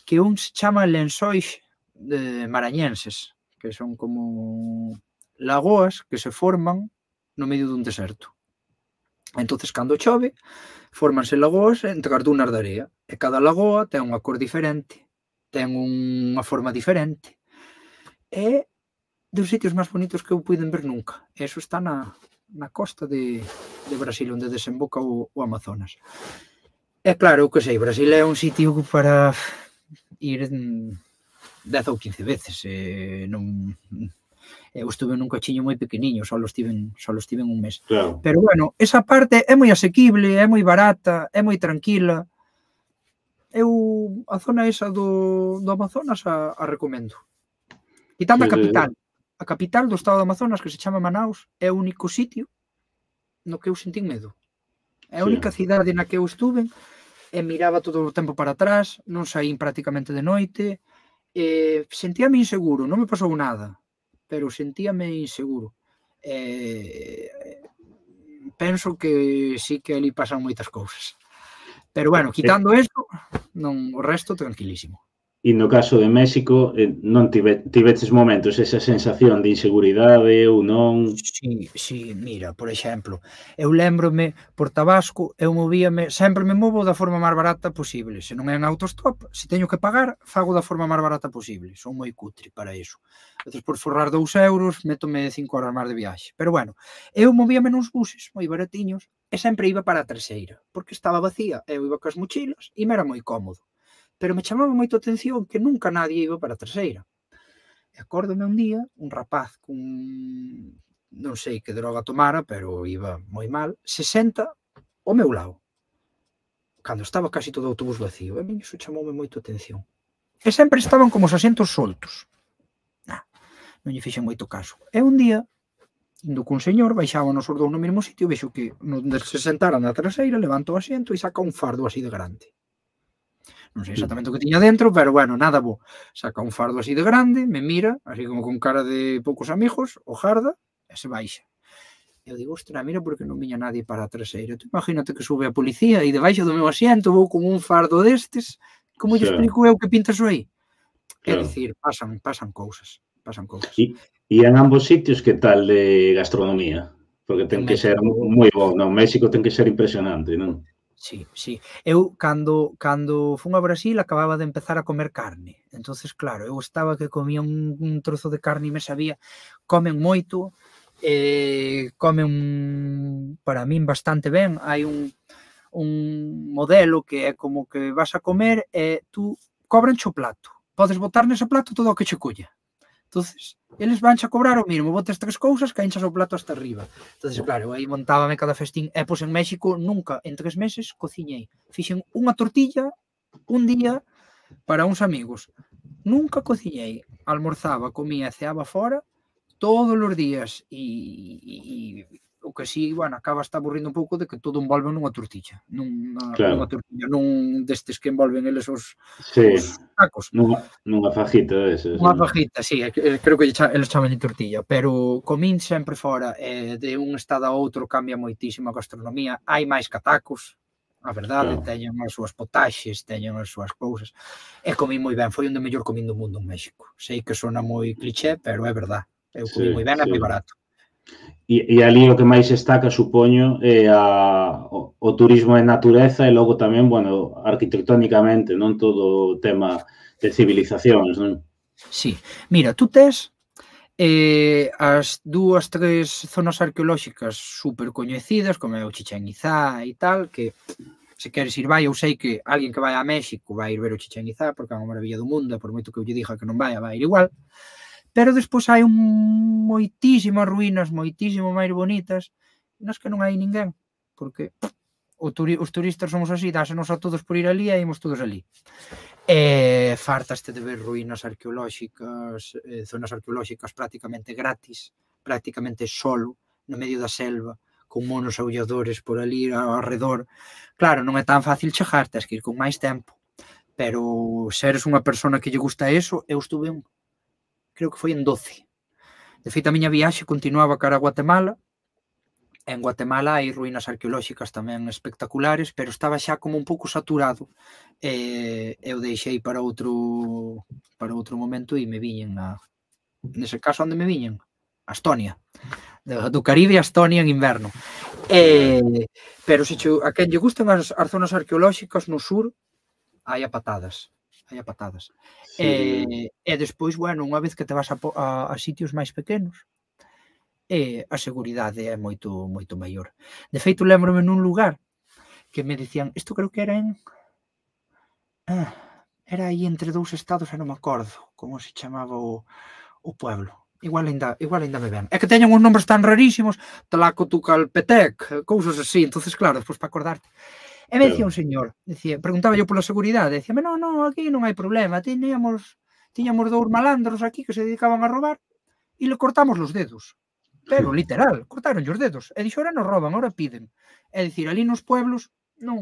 que un se chama lençóis de marañenses, que son como lagoas que se forman no medio dun deserto. Entonces, cando chove, fórmanse lagoas entre as dunas de area, e cada lagoa ten unha cor diferente, ten unha forma diferente, e dos sitios máis bonitos que eu puiden ver nunca. Eso está na, na costa de, de Brasil, onde desemboca o, o Amazonas. E claro, eu que sei, Brasil é un sitio para ir dez ou quince veces. E non, eu estuve nun cochiño moi pequeniño, só estiven, só estiven un mes. Claro. Pero bueno, esa parte é moi asequible, é moi barata, é moi tranquila. Eu a zona esa do, do Amazonas a, a recomendo. Quitando a capital. A capital do estado do Amazonas, que se chama Manaus, é o único sitio no que eu sentín medo. É a única cidade na que eu estuve e miraba todo o tempo para atrás, non saín prácticamente de noite, e sentíame inseguro, non me pasou nada, pero sentíame inseguro. E penso que sí que ali pasan moitas cousas. Pero bueno, quitando isto, non, o resto tranquilísimo. E no caso de México, non tive, tiveches momentos esa sensación de inseguridade ou non? Sí, sí, mira, por exemplo, eu lembrome por Tabasco, eu movíame, sempre me movo da forma máis barata posible. Se non é en autostop, se teño que pagar, fago da forma máis barata posible. Son moi cutre para iso. Entón, por forrar dous euros, métome cinco horas máis de viaxe. Pero bueno, eu movíame nos buses moi baratiños e sempre iba para a traseira, porque estaba vacía, eu iba cas mochilas e me era moi cómodo. Pero me chamaba moito a atención que nunca nadie iba para a traseira. E acórdome un día, un rapaz con, non sei que droga tomara, pero iba moi mal, se senta ao meu lado, cando estaba casi todo o autobús vacío. E a mí iso chamoume moito a atención. E sempre estaban como os asentos soltos. Nah, non lle fixen moito caso. E un día, indo cun señor, baixábamos os dous no mesmo sitio, vexo que onde se sentara na traseira, levanta o asiento e saca un fardo así de grande. Non sei exactamente o que tiña dentro, pero bueno, nada bo. Saca un fardo así de grande, me mira, así como con cara de poucos amigos, o jarda, e se baixa. Eu digo, ostra, mira porque non viña nadie para a traseira. Tú imagínate que sube a policía e debaixo do meu asiento vou con un fardo destes, como lle explico eu que pintas aí? É dicir, pasan, pasan cousas, pasan cousas. E, e en ambos sitios, que tal de gastronomía? Porque ten que ser moi bo, non? México ten que ser impresionante, non? Sí, sí. Eu, cando, cando fun a Brasil, acababa de empezar a comer carne. Entonces, claro, eu estaba que comía un, un trozo de carne e me sabía. Comen moito, eh, comen, para min, bastante ben. Hai un, un modelo que é como que vas a comer e tú cobranche o plato. Podes botar nese plato todo o que che colla. Entonces, eles vanche a cobrar o mismo, botes tres cousas, caínchas o plato hasta arriba. Entonces, claro, aí montábame cada festín. E, pois, en México, nunca, en tres meses, cociñei. Fixen unha tortilla un día para uns amigos. Nunca cociñei. Almorzaba, comía, ceaba fora, todos os días. E, e o que si, bueno, acaba está aburrindo un pouco de que todo envolve nunha tortilla. Nunha, claro. nunha tortilla, nun destes que envolven eles os, sí. os tacos. Nunha, nunha fajita deses. Unha fajita, sí, creo que eles chaman de tortilla, pero comín sempre fora, eh, de un estado a outro cambia moitísimo a gastronomía. Hai máis catacos, a verdade, claro. Teñen as súas potaxes, teñen as súas cousas. E comín moi ben, foi onde mellor comín do mundo en México. Sei que sona moi cliché, pero é verdade. Eu comín sí, moi ben, sí. É moi barato. E, e ali o que máis destaca, supoño, é a, o, o turismo de natureza e logo tamén, bueno, arquitectónicamente, non todo o tema de civilizacións, non? Sí, mira, tú tes eh, as dúas, tres zonas arqueolóxicas super coñecidas, como é o Chichén Itzá e tal, que se queres ir vai, eu sei que alguén que vai a México vai ir ver o Chichén Itzá, porque é unha maravilla do mundo, por moito que eu lle diga que non vai, vai ir igual. Pero despois hai un moitísimas ruínas, moitísimo máis bonitas, nas que non hai ninguén, porque o turi os turistas somos así, dásenos a todos por ir ali e imos todos ali. E fartaste de ver ruínas arqueolóxicas, eh, zonas arqueolóxicas prácticamente gratis, prácticamente solo, no medio da selva, con monos aulladores por ali ao redor. Claro, non é tan fácil chegar, tens que ir con máis tempo. pero se eres unha persona que lle gusta eso, eu estuve un, creo que foi en doce. De feito, a miña viaxe continuaba cara a Guatemala. En Guatemala hai ruínas arqueolóxicas tamén espectaculares, pero estaba xa como un pouco saturado. E eu deixei para outro para outro momento e me viñen a... Nese caso, onde me viñen? A Estonia. Do Caribe a Estonia en inverno. E, pero se che, a quen lle gustan as, as zonas arqueolóxicas no sur, hai a patadas. Hai a patadas. Sí. E, e despois, bueno, unha vez que te vas a, a, a sitios máis pequenos, e a seguridade é moito moito maior. De feito, lembrome nun lugar que me dicían, isto creo que era en... Ah, era aí entre dous estados, e non me acordo como se chamaba o, o pueblo. Igual ainda, igual ainda me ven. É que teñen uns nombres tan rarísimos, Tlacotucalpetec, cousas así, entonces claro, despois para acordarte. E me dicía un señor, decía, preguntaba yo pola seguridade, decía, non, non, aquí non hai problema, tiñamos, tiñamos dous malandros aquí que se dedicaban a robar e le cortamos los dedos. Pero, literal, cortaron os dedos. E dixo, ora nos roban, ora piden. É dicir, ali nos pueblos non,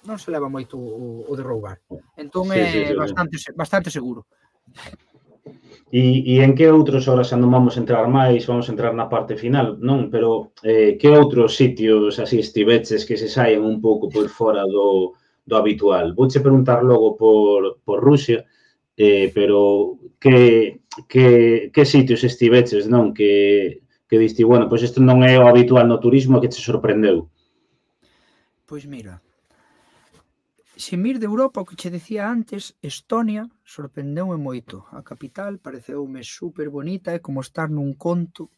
non se leva moito o, o de roubar. Entón sí, é sí, sí, bastante, sí. bastante seguro. E, e en que outros horas non vamos a entrar máis, vamos a entrar na parte final, non? Pero eh, que outros sitios así estiveches que se saen un pouco por fora do, do habitual? Vouche preguntar logo por, por Rusia, eh, pero que, que, que sitios estiveches, non? Que... que diste, bueno, pois isto non é o habitual no turismo, que te sorprendeu? Pois mira, se mir de Europa, o que che decía antes, Estonia sorprendeume moito. A capital pareceume super bonita, é como estar nun conto.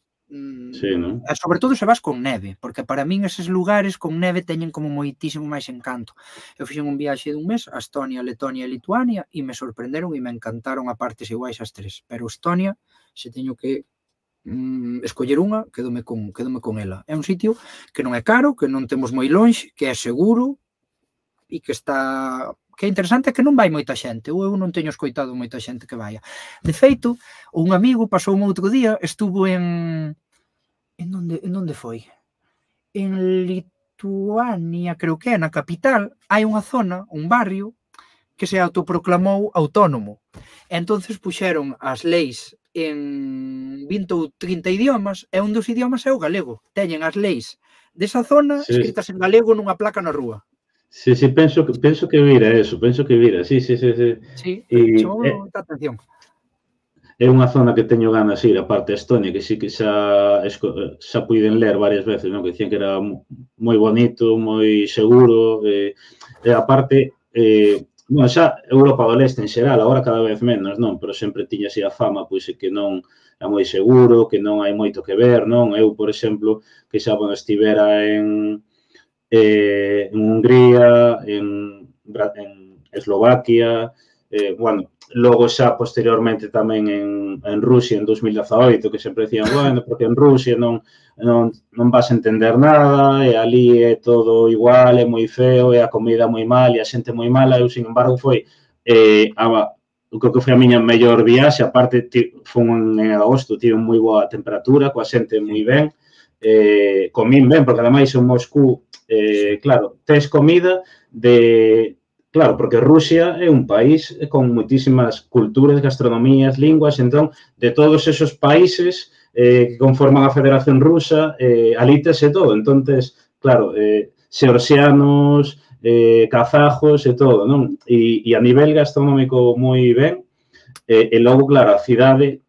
Sí, non? E sobre todo se vas con neve, porque para min eses lugares con neve teñen como moitísimo máis encanto. Eu fixen un viaxe dun mes a Estonia, Letonia e Lituania e me sorprenderon e me encantaron a partes iguais as tres. Pero Estonia, se teño que Mm, escoller unha, quedome con, quedome con ela. É un sitio que non é caro, que non temos moi lonxe, que é seguro e que está... que é interesante, que non vai moita xente. Eu non teño escoitado moita xente que vaya. De feito, un amigo pasou un outro día, estuvo en... En onde, en onde foi? En Lituania, creo que é, na capital, hai unha zona, un barrio, que se autoproclamou autónomo. E entonces puxeron as leis en vinte ou trinta idiomas, e un dos idiomas é o galego. Teñen as leis desa zona sí. escritas en galego nunha placa na rúa. Sí, sí, penso que, penso que vira eso, penso que vira, sí, sí, sí. Sí, sí e, chamou é, moita atención. É unha zona que teño ganas de ir, a parte de Estonia, que sí que xa, xa puiden ler varias veces, non? Que dicían que era moi bonito, moi seguro, e, e a parte... Eh, bueno, xa Europa do Leste en xeral, agora cada vez menos, non? Pero sempre tiña así a fama, pois, que non é moi seguro, que non hai moito que ver, non? Eu, por exemplo, que xa, bueno, estivera en, eh, en Hungría, en, en Eslovaquia, eh, bueno, logo xa posteriormente tamén en, en Rusia en dos mil dezaoito, que sempre decían, bueno, porque en Rusia non, non, non vas a entender nada, e ali é todo igual, é moi feo, e a comida moi mal, e a xente moi mala. Eu, sin embargo, foi, eh, a, creo que foi a miña mellor viaxe, aparte, foi en agosto, tive moi boa temperatura, coa xente moi ben, eh, comín ben, porque ademais en Moscú, eh, claro, tes comida de... Claro, porque Rusia é un país con moitísimas culturas, gastronomías, linguas, entón, de todos esos países eh, que conforman a Federación Rusa, eh, alítase todo. Entonces, claro, eh, xeorxianos, eh, kazajos e todo, non? E, e a nivel gastronómico moi ben. E, e logo, claro, a cidade,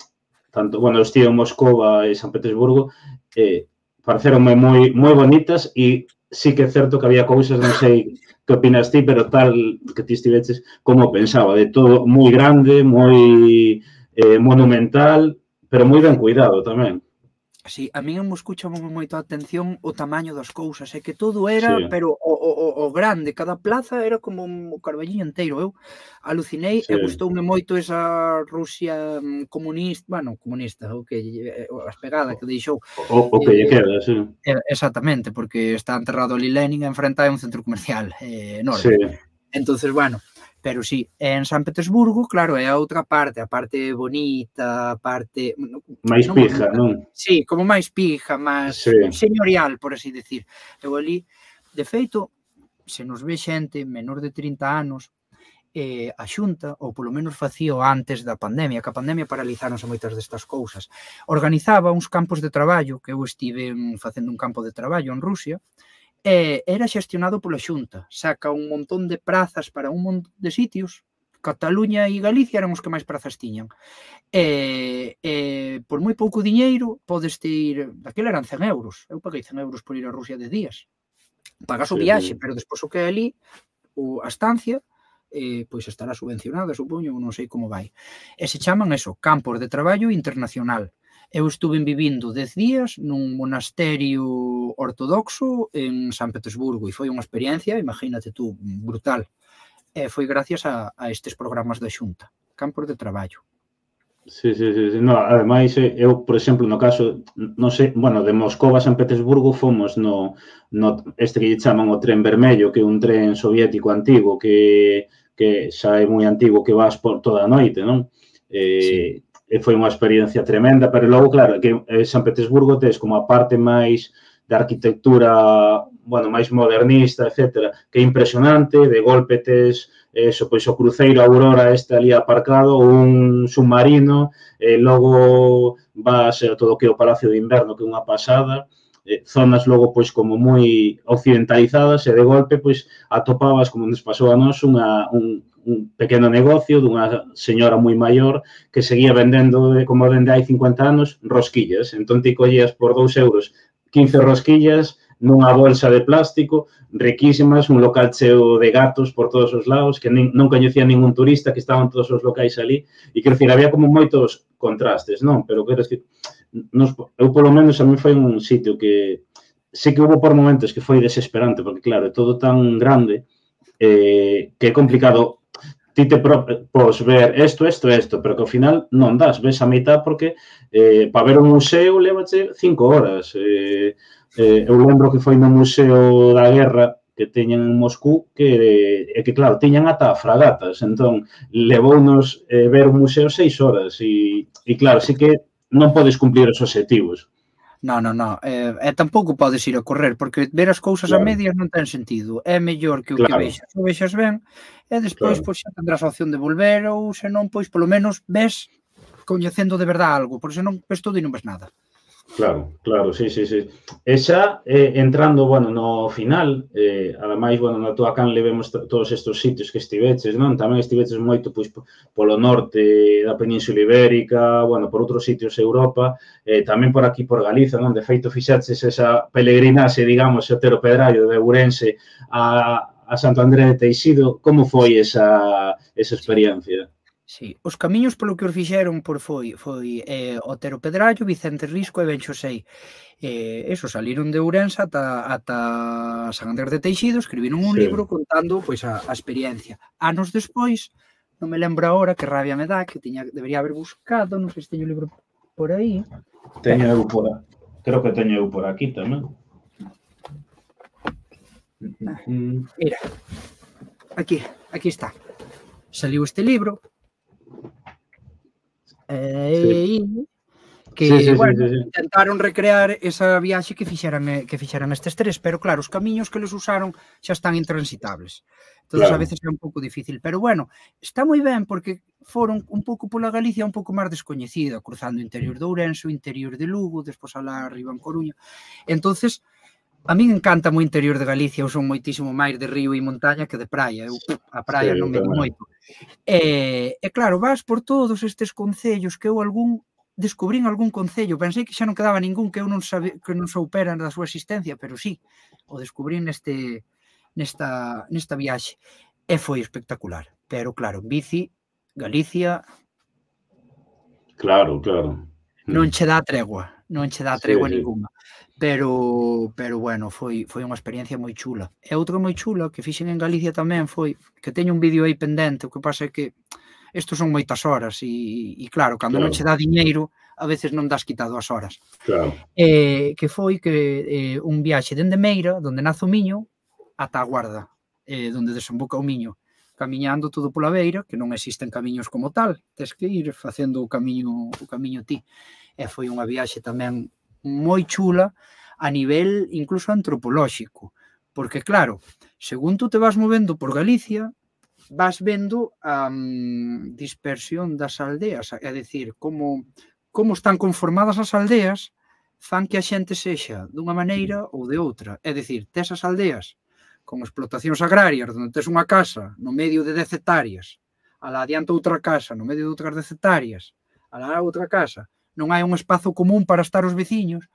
tanto, bueno, eu estive en Moscova e San Petersburgo, eh, pareceronme moi, moi bonitas e sí que é certo que había cousas, non sei que opinas ti, pero tal que ti estiveches como pensaba, de todo moi grande, moi eh, monumental, pero moi ben cuidado tamén. Sí, a mí en Moscú chamou moito a atención o tamaño das cousas, é que todo era, sí. pero o, o, o grande, cada plaza era como un carballiño inteiro. Eu alucinei sí. e gustoume moito esa Rusia comunista, bueno, comunista, o que as pegadas que deixou. O, o que lle queda, sí. Exactamente, porque está enterrado ali Lenin enfrente a un centro comercial eh, enorme. Sí. Entonces, bueno, pero sí, en San Petersburgo, claro, é a outra parte, a parte bonita, a parte... máis pija, non? Sí, como máis pija, máis sí. señorial, por así decir. Eu ali, de feito, se nos ve xente menor de trinta anos, eh, a Xunta, ou polo menos facío antes da pandemia, que a pandemia paralizáronse moitas destas cousas, organizaba uns campos de traballo, que eu estive facendo un campo de traballo en Rusia, e era xestionado pola Xunta, saca un montón de prazas para un montón de sitios, Cataluña e Galicia eran os que máis prazas tiñan, e, e por moi pouco diñeiro podes ir, daquela eran cen euros, eu paguei cen euros por ir a Rusia de días, pagas o viaxe, pero despois o que é ali, o, a estancia, eh, pois estará subvencionada, supoño, non sei como vai. E se chaman eso, campos de traballo internacional. Eu estuve vivindo dez días nun monasterio ortodoxo en San Petersburgo e foi unha experiencia, imagínate tú, brutal. E foi gracias a, a estes programas da Xunta, campos de traballo. Sí, sí, sí, sí. No, ademais, eu, por exemplo, no caso, non sei, bueno, de Moscova a San Petersburgo fomos no, no este que lle chaman o tren vermello, que é un tren soviético antigo, que, que xa é moi antigo, que vas por toda a noite, non? Eh, sí. E foi unha experiencia tremenda, pero logo, claro, que en San Petersburgo tes como a parte máis de arquitectura, bueno, máis modernista, etcétera, que é impresionante, de golpe tes eso, pois o cruceiro Aurora este ali aparcado, un submarino, e logo vas a todo o que é o Palacio de Inverno, que é unha pasada, eh, zonas logo pois como moi occidentalizadas e de golpe pois atopabas, como nos pasou a nós, unha, un, un pequeno negocio dunha señora moi maior que seguía vendendo, de, como dende hai cincuenta anos, rosquillas. Entón ti collías por dous euros quince rosquillas nunha bolsa de plástico, riquísimas, un local cheo de gatos por todos os lados, que nin, non coñecía ningún turista, que estaban todos os locais ali, e quero dicir, había como moitos contrastes, non? Pero quero dicir, nos, eu polo menos a mí foi un sitio que sí que hubo por momentos que foi desesperante, porque claro, é todo tan grande eh, que é complicado ti te pos ver isto, isto, isto, pero que ao final non das, ves a mitad porque eh, para ver un museo levache cinco horas. Eh, eh, eu lembro que foi no Museo da Guerra que teñen en Moscú, que, é que claro, tiñan ata fragatas, entón levounos eh, ver un museo seis horas e, e claro, sí que non podes cumplir os objetivos. Non, non, non, e eh, tampouco podes ir a correr, porque ver as cousas claro. A medias non ten sentido. É mellor que o claro. Que vexas, o vexas ben, e despois, claro. Pois, xa tendrás a opción de volver, ou senón, pois, polo menos, ves coñecendo de verdade algo, porque senón ves todo e non ves nada. Claro, claro, sí, sí, sí. E xa, eh, entrando, bueno, no final, eh, ademais, bueno, na túa canle vemos todos estes sitios que estiveches, non? Tamén estiveches moito, pois, polo norte da Península Ibérica, bueno, por outros sitios de Europa, eh, tamén por aquí, por Galiza, non? De feito, fixaches esa peregrinaxe, digamos, Otero Pedrallo de Ourense a, a Santo André de Teixido. Como foi esa, esa experiencia? Sí, os camiños polo que os fixeron por foi foi eh, Otero Pedrallo, Vicente Risco e Ben Xosei. Eh, eso, saliron de Ourense ata, ata San Andrés de Teixido, escribiron un sí. libro contando pois a, a experiencia. Anos despois, non me lembro agora, que rabia me dá, que tiña, debería haber buscado, non sei se teño o libro por aí. Teño eu por aquí, creo que teño eu por aquí tamén. Mira, aquí, aquí está. Saliu este libro, e sí. que, sí, sí, bueno, sí, sí. Intentaron recrear esa viaxe que fixeran, que fixeran estes tres, pero claro, os camiños que les usaron xa están intransitables. Entón, claro. A veces é un pouco difícil, pero bueno, está moi ben porque foron un pouco pola Galicia un pouco máis descoñecida, cruzando o interior de Ourense, o interior de Lugo, despois alá arriba en Coruña. Entonces, a min encanta o interior de Galicia, eu son moitísimo máis de río e montaña que de praia, eu a praia sí, non me di moito. E, e claro, vas por todos estes concellos que eu algún descubrín algún concello, pensei que xa non quedaba ningún que eu non sabe, que non soupera da súa existencia, pero sí, o descubrín neste nesta nesta viaxe e foi espectacular. Pero claro, en bici, Galicia Claro, claro. Non che dá tregua, non che dá tregua sí, ninguna. Pero, pero bueno, foi, foi unha experiencia moi chula. E outra moi chula que fixen en Galicia tamén foi, que teño un vídeo aí pendente, o que pasa é que estos son moitas horas e, e claro, cando claro. Non che dá diñeiro, a veces non das quitado as horas. Claro. Eh, que foi que eh, un viaxe dende Meira, donde nace o Miño, ata a Guarda, eh, donde desemboca o Miño, camiñando todo pola beira, que non existen camiños como tal, tes que ir facendo o camiño, o camiño ti. E foi unha viaxe tamén moi chula a nivel incluso antropolóxico, porque claro, según tú te vas movendo por Galicia, vas vendo a um, dispersión das aldeas, é dicir, como, como están conformadas as aldeas fan que a xente sexa dunha maneira ou de outra. É dicir, tes as aldeas con explotacións agrarias, onde tes unha casa no medio de dez hectáreas, alá adianta outra casa no medio de outras dez hectáreas, alá outra casa, non hai un espazo común para estar os veciños,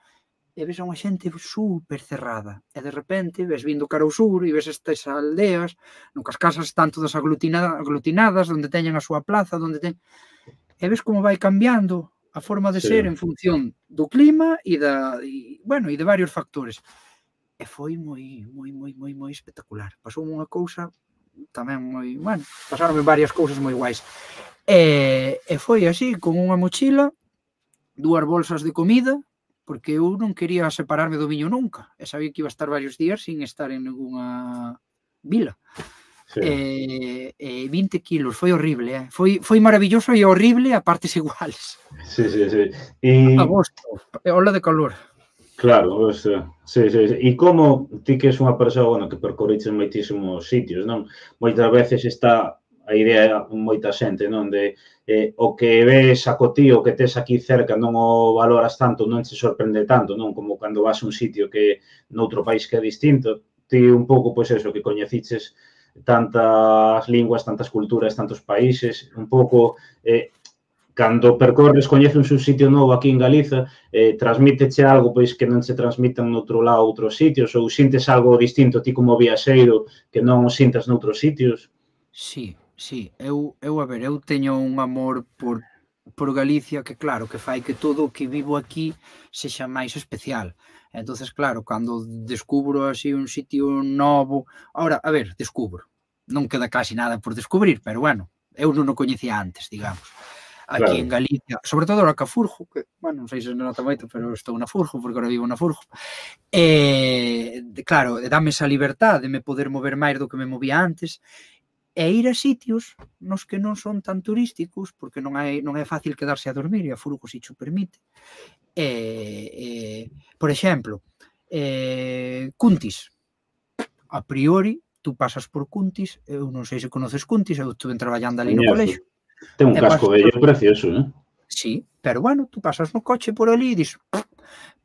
e ves a unha xente super cerrada. E de repente ves vindo cara ao sur e ves estas aldeas no que as casas están todas aglutina, aglutinadas, onde teñen a súa plaza, onde ten... E ves como vai cambiando a forma de Sí. ser en función do clima e da e, bueno, e de varios factores. E foi moi, moi, moi, moi, moi espectacular. Pasou unha cousa tamén moi, bueno, pasaronme varias cousas moi guais. E, e foi así, con unha mochila, dúas bolsas de comida, porque eu non quería separarme do viño nunca, e sabía que iba a estar varios días sin estar en ninguna vila. Sí. E, e vinte kilos, foi horrible, eh? foi, foi maravilloso e horrible a partes iguales. Sí, sí, sí. E... Agosto, ola de calor. Claro, o sea, sí, sí, sí. E como ti que és unha persoa, bueno, que percorriches moitísimos sitios, non? Moitas veces está a idea moita xente, non? De eh, o que ves a cotío, o que tes aquí cerca, non o valoras tanto, non te sorprende tanto, non? Como cando vas a un sitio que noutro país que é distinto, ti un pouco, pois eso, que coñeciches tantas linguas, tantas culturas, tantos países, un pouco... Eh, cando percorres, coñeces un sitio novo aquí en Galiza, eh, transmíteche algo pois que non se transmitan noutro lado outros sitios, ou sintes algo distinto ti como viaxeiro que non o sintas noutros sitios? Sí, sí, eu, eu a ver, eu teño un amor por, por Galicia que claro, que fai que todo o que vivo aquí sexa máis especial. Entonces, claro, cando descubro así un sitio novo, ahora, a ver, descubro, non queda casi nada por descubrir, pero bueno, eu non o coñecía antes, digamos. Aquí claro. En Galicia, sobre todo ahora que a Furjo, que, bueno, non sei se nota moito, pero estou na Furjo, porque ahora vivo na Furjo, e, claro, dame esa liberdade de me poder mover máis do que me movía antes, e ir a sitios nos que non son tan turísticos, porque non, hai, non é fácil quedarse a dormir, e a Furjo si cho permite. E, e, por exemplo, eh, Cuntis, a priori, tú pasas por Cuntis, eu non sei se conoces Cuntis, eu estuve traballando ali no colexo. Ten un casco bello precioso, eh? Sí, pero bueno, tú pasas no coche por ali e dis,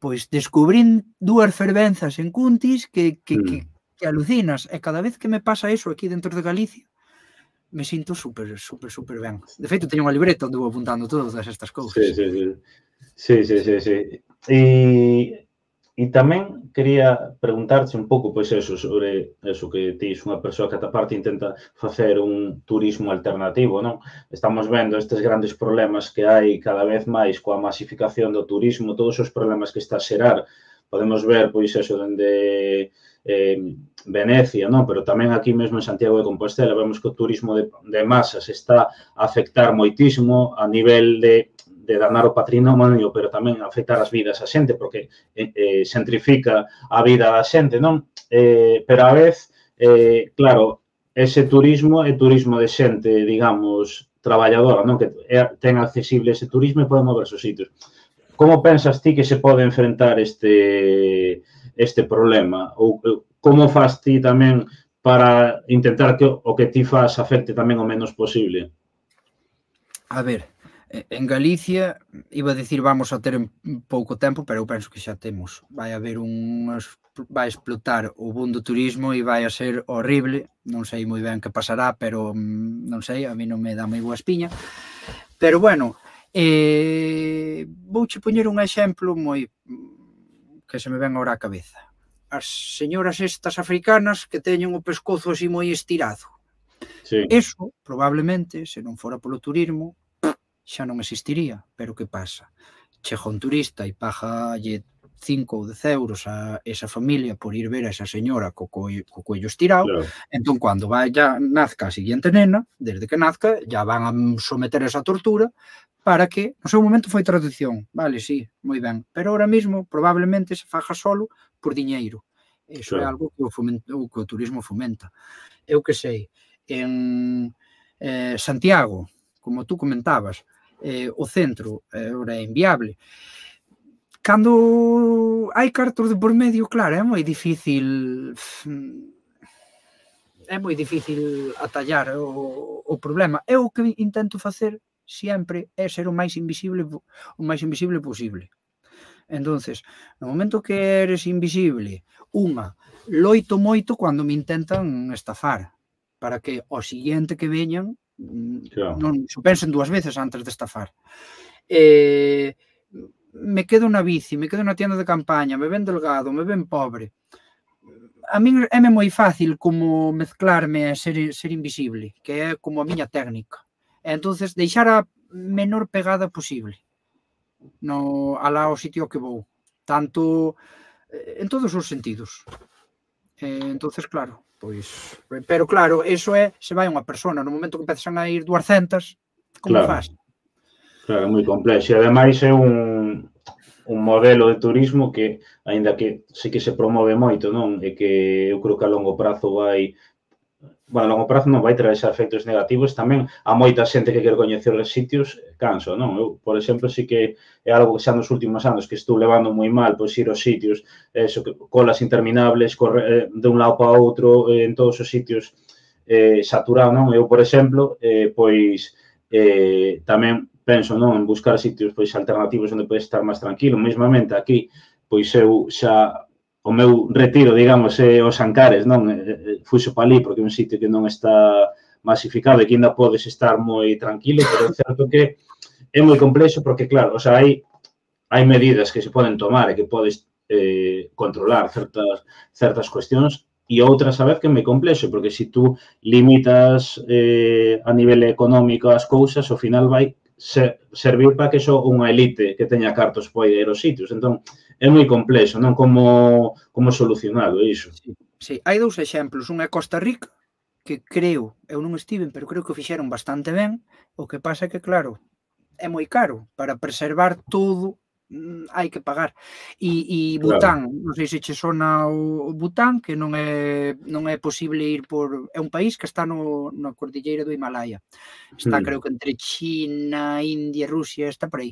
pois descubrín dúas fervenzas en Cuntis que, que, mm. que, que alucinas, e cada vez que me pasa eso aquí dentro de Galicia, me sinto super, super, super ben. De feito, teño unha libreta onde vou apuntando todas estas cousas. Sí, sí, sí. Sí, sí, sí, sí. E... E tamén quería preguntarte un pouco, pois eso, sobre eso que ti unha persoa que ata parte intenta facer un turismo alternativo, non? Estamos vendo estes grandes problemas que hai cada vez máis coa masificación do turismo, todos os problemas que está a xerar. Podemos ver, pois eso, dende eh, Venecia, non? Pero tamén aquí mesmo en Santiago de Compostela vemos que o turismo de, de masas está a afectar moitísimo a nivel de de danar o patrimonio, pero tamén afectar as vidas a xente, porque eh, eh, xentrifica a vida da xente, non? Eh, pero a vez, eh, claro, ese turismo é turismo de xente, digamos, traballadora, non? Que é, ten accesible ese turismo e pode moverse os sitios. Como pensas ti que se pode enfrentar este, este problema? Ou como faz ti tamén para intentar que o que ti faz afecte tamén o menos posible? A ver, en Galicia, iba a dicir vamos a ter en pouco tempo, pero eu penso que xa temos. Vai haber un... vai explotar o boom do turismo e vai a ser horrible. Non sei moi ben que pasará, pero non sei, a mí non me dá moi boa espiña. Pero bueno, eh, vouche poñer un exemplo moi que se me ven agora á cabeza. As señoras estas africanas que teñen o pescozo así moi estirado. Sí. Eso, probablemente, se non fora polo turismo, xa non existiría, pero que pasa? Chega un turista e pagalle cinco ou dez euros a esa familia por ir ver a esa señora co, co, co cuello estirado, claro. Entón, cando vaya, nazca a seguinte nena, desde que nazca, ya van a someter esa tortura para que, no seu momento foi tradición, vale, sí, moi ben, pero ahora mismo probablemente se faja solo por diñeiro. Eso claro. É algo que o, fomenta, que o turismo fomenta. Eu que sei, en eh, Santiago, como tú comentabas, Eh, o centro eh, ora é inviable. Cando hai cartos de por medio, claro, é moi difícil é moi difícil atallar o, o problema. Eu o que intento facer sempre é ser o máis invisible o máis invisible posible. Entonces, no momento que eres invisible, unha, loito moito cando me intentan estafar, para que o siguiente que veñan claro. non se pensen dúas veces antes de estafar. Eh, me quedo na bici, me quedo na tienda de campaña, me ven delgado, me ven pobre. A min é moi fácil como mezclarme e ser, ser invisible, que é como a miña técnica. E entonces deixar a menor pegada posible no, alá ao sitio que vou. Tanto en todos os sentidos. Eh, entonces, claro, pois... Pero claro, eso é, se vai unha persona, no momento que empezan a ir duascentas, como claro. faz? Claro, é moi complexo. E ademais é un... un modelo de turismo que, aínda que sí que se promove moito, non? E que eu creo que a longo prazo vai, bueno, a longo prazo non vai traer efectos negativos, tamén a moita xente que quer coñecer os sitios canso, non? Eu, por exemplo, sí que é algo que xa nos últimos anos que estou levando moi mal, pois ir aos sitios, eso, colas interminables, correr de un lado para outro, en todos os sitios eh, saturado, non? Eu, por exemplo, eh, pois eh, tamén penso, non, en buscar sitios pois alternativos onde podes estar máis tranquilo. Mesmamente aquí, pois eu xa o meu retiro, digamos, é os Ancares, non? Fuxo para ali porque é un sitio que non está masificado e que ainda podes estar moi tranquilo, pero é certo que é moi complexo porque, claro, o sea, hai hai medidas que se poden tomar e que podes eh, controlar certas certas cuestións e outras a vez que é moi complexo, porque se tú limitas eh, a nivel económico as cousas, ao final vai ser, servir para que só unha elite que teña cartos pode ir aos sitios. Entón, é moi complexo, non? Como, como solucionado iso. Sí, sí, hai dous exemplos. Un é Costa Rica, que creo, eu non estiven, pero creo que o fixeron bastante ben. O que pasa é que, claro, é moi caro. Para preservar todo, hai que pagar. E, e Bután, claro. Non sei se che sona o Bután, que non é non é posible ir por... É un país que está no, na cordilleira do Himalaya. Está, mm. creo que entre China, India, Rusia, está por aí.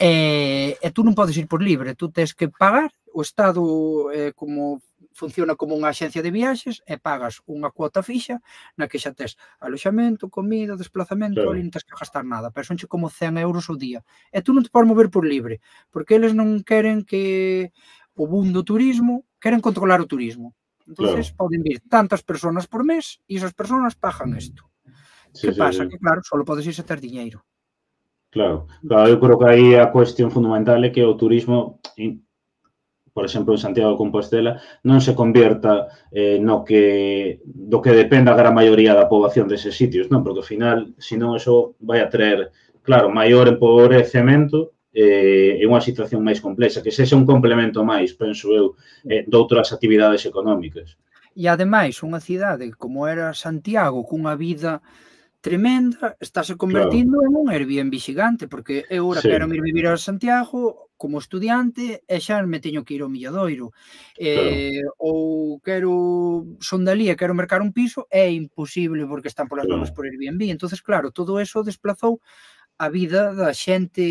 E, e tú non podes ir por libre, tú tens que pagar. O Estado eh, como funciona como unha axencia de viaxes e pagas unha cuota fixa na que xa tes aloxamento, comida, desplazamento, claro. Ali non tens que gastar nada, pero sonche como cen euros ao día. E tú non te podes mover por libre, porque eles non queren que o boom do turismo, queren controlar o turismo. Entonces claro. Poden vir tantas persoas por mes e esas persoas pagan isto. Sí, que sí, pasa? Sí. Que claro, só podes ir se ter diñeiro. Claro, claro, eu creo que aí a cuestión fundamental é que o turismo, por exemplo, en Santiago de Compostela, non se convierta eh, no que do que dependa a gran maioría da poboación deses sitios, non? Porque ao final, senón, eso vai a traer, claro, maior empobrecemento eh, e unha situación máis complexa, que sexa un complemento máis, penso eu, eh, de outras actividades económicas. E, ademais, unha cidade como era Santiago, cunha vida tremenda, estáse convertindo claro. En un Airbnb xigante, porque eu ora sí. Quero ir vivir a Santiago como estudiante e xa me teño que ir ao Milladoiro. Eh, claro. Ou quero, son dali e quero mercar un piso, é imposible porque están polas claro. Novas por Airbnb. Entonces, claro, todo eso desplazou a vida da xente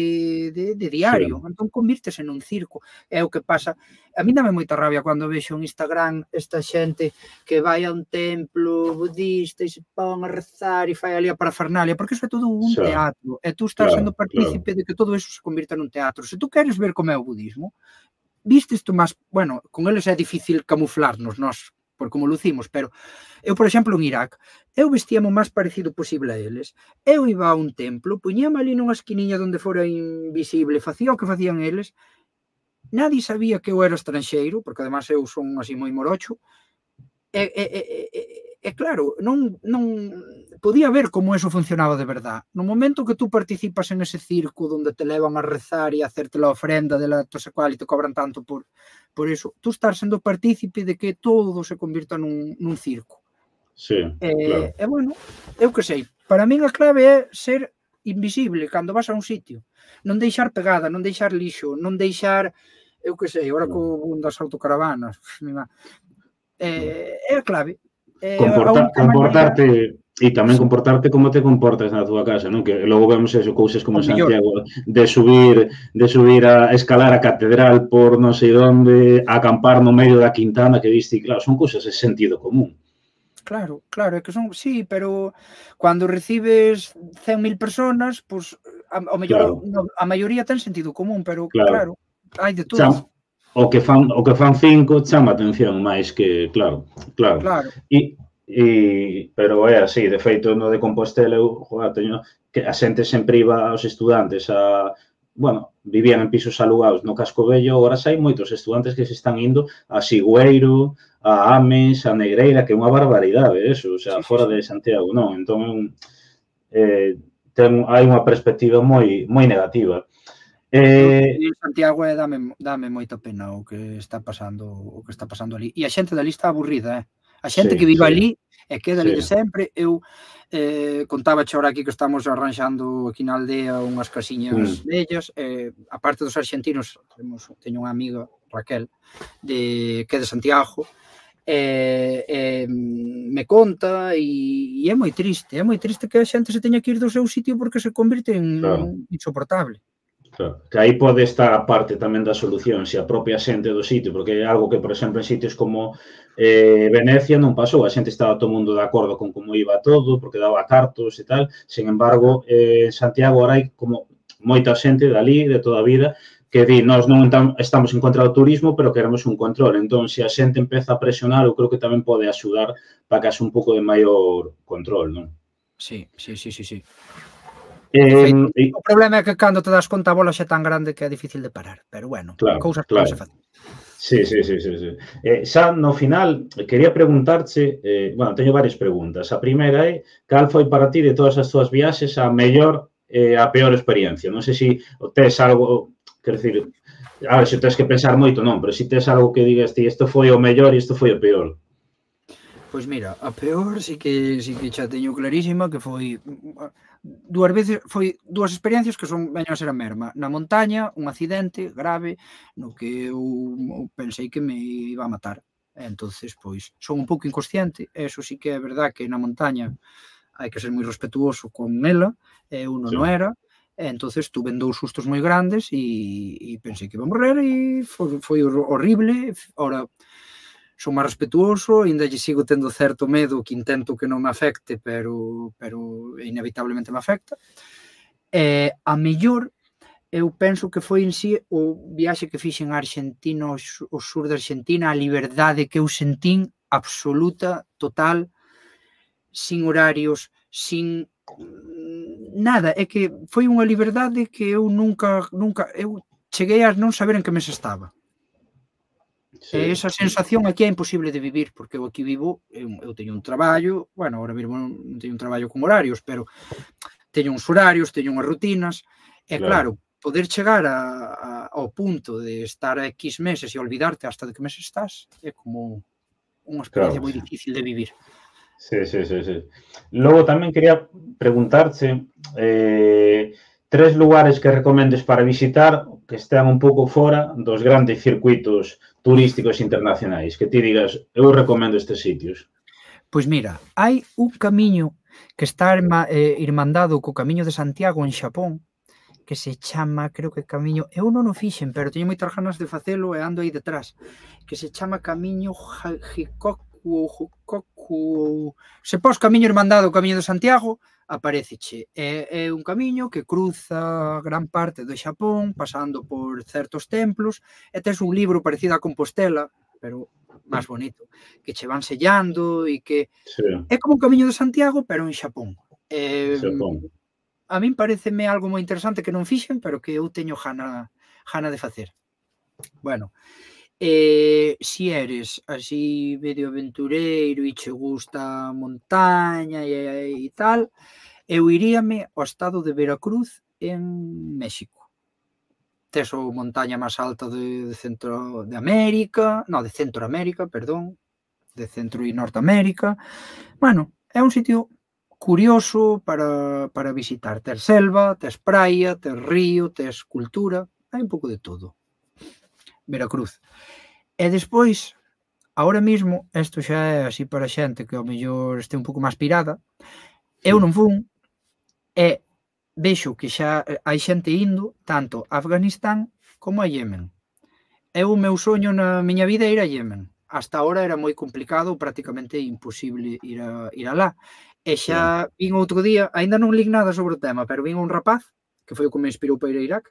de, de diario. Sí. Entón, convírtese nun circo. É o que pasa. A mí dame moita rabia cando vexo en Instagram esta xente que vai a un templo budista e se pon a rezar e fai ali a parafernalia, porque iso é todo un sí. Teatro. E tú estás claro, sendo partícipe claro. De que todo iso se convirta nun teatro. Se tú queres ver como é o budismo, viste isto máis... Bueno, con eles é difícil camuflarnos, nós, por como lucimos, pero eu, por exemplo, en Irak, eu vestíame o máis parecido posible a eles. Eu iba a un templo, puñame ali nunha esquiniña onde fora invisible, facía o que facían eles, nadie sabía que eu era estranxeiro, porque además eu son así moi morocho, e, e, e, e, e claro, non, non podía ver como eso funcionaba de verdad. No momento que tú participas en ese circo onde te levan a rezar e a hacerte la ofrenda de la tosa cual e te cobran tanto por, por eso, tú estás sendo partícipe de que todo se convirta nun, nun circo. Sí, e, claro. E, bueno, eu que sei, para min a clave é ser invisible cando vas a un sitio. Non deixar pegada, non deixar lixo, non deixar, eu que sei, agora co boom das autocaravanas, é, é a clave. É Comporta, a comportarte e tamén comportarte como te comportas na tua casa, non? Que logo vemos eso, cousas como Santiago, de subir, de subir a escalar a catedral por non sei onde, a acampar no medio da Quintana, que viste, claro, son cousas de sentido común. Claro, claro, é que son, sí, pero cando recibes cen mil personas, pois, a ao mellor Claro, a maioría ten sentido común, pero claro. claro, hai de todo. Cham, o que fan o que fan cinco chama a atención máis que, claro, claro. Claro, E, e pero é así, de feito, no de Compostela eu, joder, teño que a xente sempre iba aos estudantes a, bueno, vivían en pisos alugados no Casco Vello, agora hai moitos estudantes que se están indo a Sigüeiro, a Ames, a Negreira, que é unha barbaridade eso, o sea, sí, sí, fora sí. de Santiago, non? Entón, eh, ten, hai unha perspectiva moi moi negativa. Eu Eh, en Santiago e dame, dame moita pena o que está pasando o que está pasando ali. E a xente dali está aburrida, eh? A xente que sí, vive sí, ali e queda ali sí. de sempre. Eu eh, contaba ahora aquí que estamos arranxando aquí na aldea unhas casiñas Mm. vellas. Eh, a parte dos argentinos, temos, teño unha amiga, Raquel, de, que é de Santiago, e, e me conta e, e é moi triste, é moi triste que a xente se teña que ir do seu sitio porque se convirte en Claro. insoportable. Claro, que aí pode estar a parte tamén da solución, se a propia xente do sitio, porque é algo que, por exemplo, en sitios como eh, Venecia non pasou, a xente estaba todo o mundo de acordo con como iba todo, porque daba cartos e tal, sin embargo, eh, en Santiago ahora hai como moita xente dali, de toda a vida, que di, nós non estamos en contra do turismo, pero queremos un control. Entón, se a xente empeza a presionar, eu creo que tamén pode axudar para que haxe un pouco de maior control, non? Sí, sí, sí, sí, sí. Eh, De feito, e, o problema é que cando te das conta a bola xa é tan grande que é difícil de parar, pero bueno, claro, cousas que claro. non se facen. Sí, sí, sí, sí, sí. Eh, xa no final, quería preguntarche, eh, bueno, teño varias preguntas. A primeira é, cal foi para ti de todas as túas viaxes a mellor e eh, a peor experiencia? Non sei se tes algo, quer decir, a ver, se tes que pensar moito, non, pero se tes algo que digas ti, isto foi o mellor e isto foi o peor. Pois mira, a peor sí que sí que xa teño clarísima que foi dúas veces, foi dúas experiencias que son veño a ser a mesma. Na montaña, un accidente grave no que eu pensei que me iba a matar. Entonces, pois, son un pouco inconsciente, eso sí que é verdad que na montaña hai que ser moi respetuoso con ela, e eu non Sí. o era, e entonces tuve dous sustos moi grandes e, e pensei que iba a morrer e foi, foi horrible. Ora, son máis respetuoso, ainda lle sigo tendo certo medo que intento que non me afecte, pero, pero inevitablemente me afecta. E a mellor, eu penso que foi en sí o viaxe que fixen a Argentina, o sur de Argentina, a liberdade que eu sentín absoluta, total, sin horarios, sin nada. É que foi unha liberdade que eu nunca, nunca, eu cheguei a non saber en que mes estaba. Sí. E esa sensación aquí é imposible de vivir, porque eu aquí vivo, eu, eu teño un traballo, bueno, ahora mesmo non teño un traballo con horarios, pero teño uns horarios, teño unhas rutinas, e claro, claro poder chegar a, a, ao punto de estar a X meses e olvidarte hasta de que mes estás, é como unha experiencia claro, moi difícil de vivir. Sí, sí, sí, sí. Logo tamén quería preguntarche eh, tres lugares que recomendes para visitar que estean un pouco fora dos grandes circuitos turísticos internacionais, que ti digas, eu recomendo estes sitios. Pois mira, hai un camiño que está eh, irmandado co Camiño de Santiago en Xapón, que se chama, creo que camiño, eu non o fixen, pero teño moitas ganas de facelo e ando aí detrás, que se chama Camiño Hikoku, Hikoku, se pos Camiño Irmandado o Camiño de Santiago, apareceche. É, é un camiño que cruza gran parte do Xapón, pasando por certos templos, e tes un libro parecido a Compostela, pero máis bonito, que che van sellando e que sí. É como un Camiño de Santiago, pero en Xapón. Eh, Xapón. A min pareceme algo moi interesante que non fixen, pero que eu teño gana, gana de facer. Bueno, eh, si eres así medio aventureiro e che gusta a montaña e, e tal, eu iríame ao estado de Veracruz en México. Tes o montaña máis alta de, de Centro de América, no, de Centroamérica, perdón, de Centro e Norteamérica. Bueno, é un sitio curioso para, para visitar. Tes selva, tes praia, tes río, tes cultura, hai un pouco de todo. Veracruz. E despois, ahora mismo, isto xa é así para xente que ao mellor este un pouco máis pirada, eu non fun, e vexo que xa hai xente indo tanto a Afganistán como a Yemen. É o meu soño na miña vida ir a Yemen. hasta ahora era moi complicado, prácticamente imposible ir, a, ir alá. E xa vin outro día, aínda non li nada sobre o tema, pero vin un rapaz, que foi o que me inspirou para ir a Irak,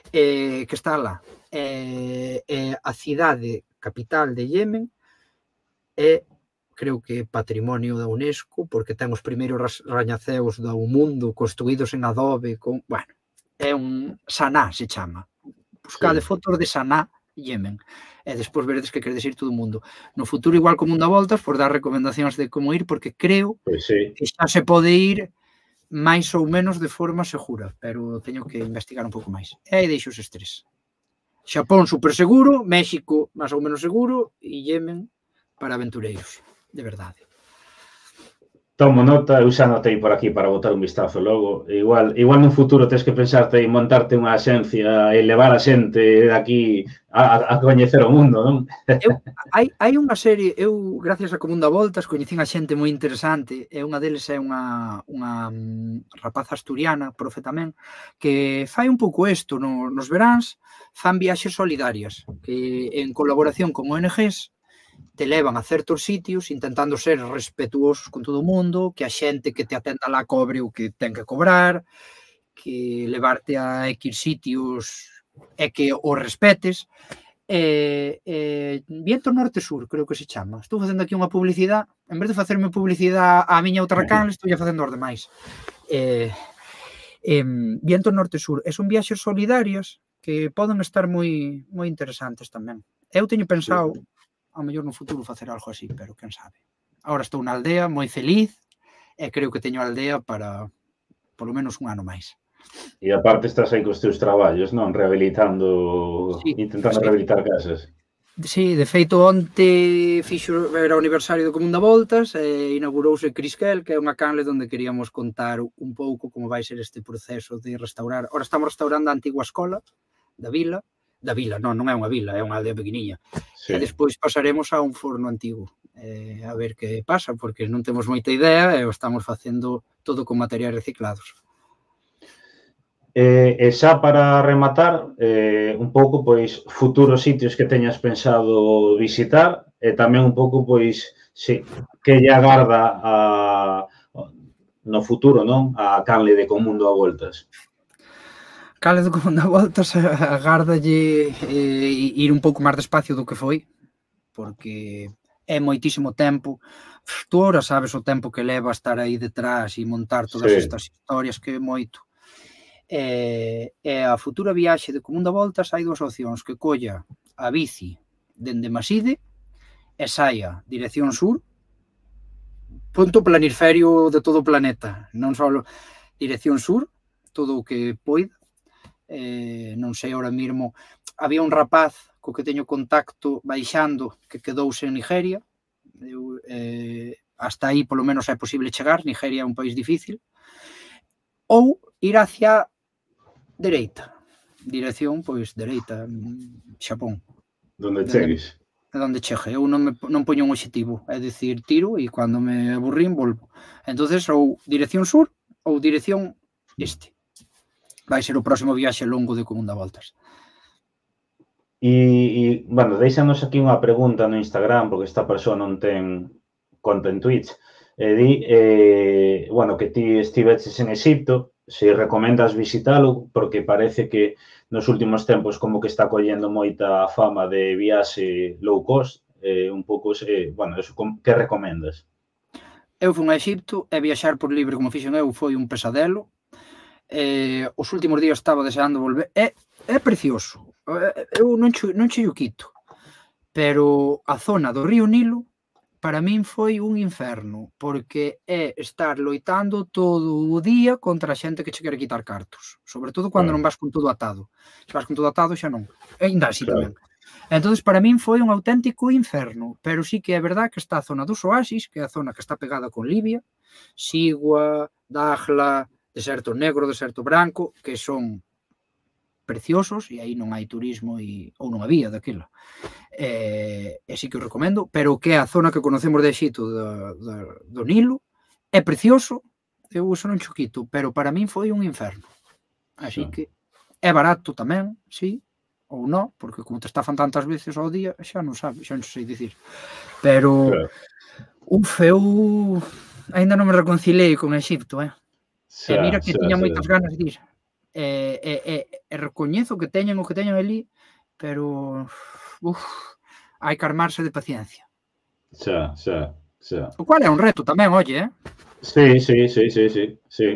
eh, que está alá. Eh, eh, a cidade capital de Yemen é, creo que patrimonio da UNESCO, porque ten os primeiros rañaceos do mundo construídos en adobe, con, bueno, é un Saná se chama. Buscade sí. Fotos de Saná, Yemen, e despois veredes que queredes ir todo o mundo. No futuro, igual como un da voltas, por dar recomendacións de como ir, porque creo pues sí. que xa se pode ir máis ou menos de forma segura, pero teño que investigar un pouco máis. E aí deixo os estrés. Xapón super seguro, México máis ou menos seguro, e Yemen para aventureiros, de verdade. Tomo nota, eu xa notei por aquí para botar un vistazo logo. Igual, igual nun futuro tens que pensarte en montarte unha axencia e levar a xente de aquí a, a coñecer o mundo, non? Eu, hai, hai unha serie, eu, gracias a Común da Voltas, coñecín a xente moi interesante, e unha deles é unha, unha rapaza asturiana, profe tamén, que fai un pouco isto, no, nos veráns, fan viaxes solidarias, que en colaboración con O N Ges, te levan a certos sitios intentando ser respetuosos con todo o mundo, que a xente que te atenda lá cobre o que ten que cobrar, que levarte a X sitios e que o respetes. Eh, eh, Viento Norte-Sur, creo que se chama. Estou facendo aquí unha publicidade, en vez de facerme publicidade á miña outra canle, estou facendo os demais. Eh, eh, Viento Norte-Sur, e son viaxes solidarias que poden estar moi moi interesantes tamén. Eu teño pensado ao mellor no futuro facer algo así, pero quen sabe. Agora estou na aldea, moi feliz, e creo que teño a aldea para polo menos un ano máis. E aparte estás aí cos teus traballos, non? Rehabilitando, sí, intentando sí. rehabilitar casas. Sí, de feito, onte fixo, era o aniversario do Común da Voltas, e inaugurouse Crisquel, que é unha canle onde queríamos contar un pouco como vai ser este proceso de restaurar. Ora estamos restaurando a antigua escola da vila, da vila, non, non é unha vila, é unha aldea pequeniña. Sí. E despois pasaremos a un forno antigo, eh, a ver que pasa, porque non temos moita idea e o estamos facendo todo con materiais reciclados. Eh, e xa para rematar, eh, un pouco, pois, futuros sitios que teñas pensado visitar e tamén un pouco, pois, sí, que lle agarda a, no futuro, non? A canle de Común da Voltas. Cale do Común da Voltas agárdalle eh, ir un pouco máis despacio do que foi, porque é moitísimo tempo. Tú ahora sabes o tempo que leva estar aí detrás e montar todas sí. estas historias, que é moito. E, e a futura viaxe de Común da Voltas hai dúas opcións, que colla a bici dende Maside e saia dirección sur, punto planisferio de todo o planeta, non só dirección sur, todo o que poida. Eh, non sei, ahora mesmo había un rapaz co que teño contacto baixando que quedouse en Nigeria. Eu, eh, hasta aí polo menos é posible chegar. Nigeria é un país difícil. Ou ir hacia dereita, dirección, pois, dereita, Xapón. Donde chegues. De onde chegue. Eu non, me, non poño un objetivo, é dicir, tiro e cando me aburrín volvo. Entonces, ou dirección sur ou dirección este. Vai ser o próximo viaxe longo de Común da Voltas. E, e bueno, deixanos aquí unha pregunta no Instagram, porque esta persoa non ten conta en Twitch. E di, eh, bueno, que ti estiveches en Egipto, se recomendas visitalo, porque parece que nos últimos tempos como que está collendo moita fama de viaxe low cost, eh, un pouco, eh, bueno, eso, que recomendas? Eu fui a Egipto e viaxar por libre como fixen eu foi un pesadelo. Eh, os últimos días estaba deseando volver. É, é precioso. Eu non che, non che o quito. Pero a zona do río Nilo para min foi un inferno, porque é estar loitando todo o día contra a xente que che quere quitar cartos. Sobre todo cando claro. non vas con todo atado. Se vas con todo atado xa non. E ainda así claro. tamén. Entón, para min foi un auténtico inferno. Pero sí que é verdad que está a zona dos oasis, que é a zona que está pegada con Libia, Sigua, Dakhla, deserto negro, deserto branco, que son preciosos, e aí non hai turismo, e, ou non había daquela. E, e sí que o recomendo, pero que é a zona que conocemos de Egipto, do, do, do Nilo, é precioso, eu uso non choquito, pero para min foi un inferno. Así sí. que é barato tamén, sí, ou non, porque como te estafan tantas veces ao día, xa non sabe, xa non sei dicir. Pero, Claro. uf, eu ainda non me reconcilei con Exipto, eh? E mira Xa, que xa, tiña xa. moitas ganas de ir. E, e, e, e recoñezo que teñen o que teñen ali, pero, uf, hai que armarse de paciencia. Xa, xa, xa. O cual é un reto tamén, oye, eh? Sí, sí, sí, sí, sí, sí.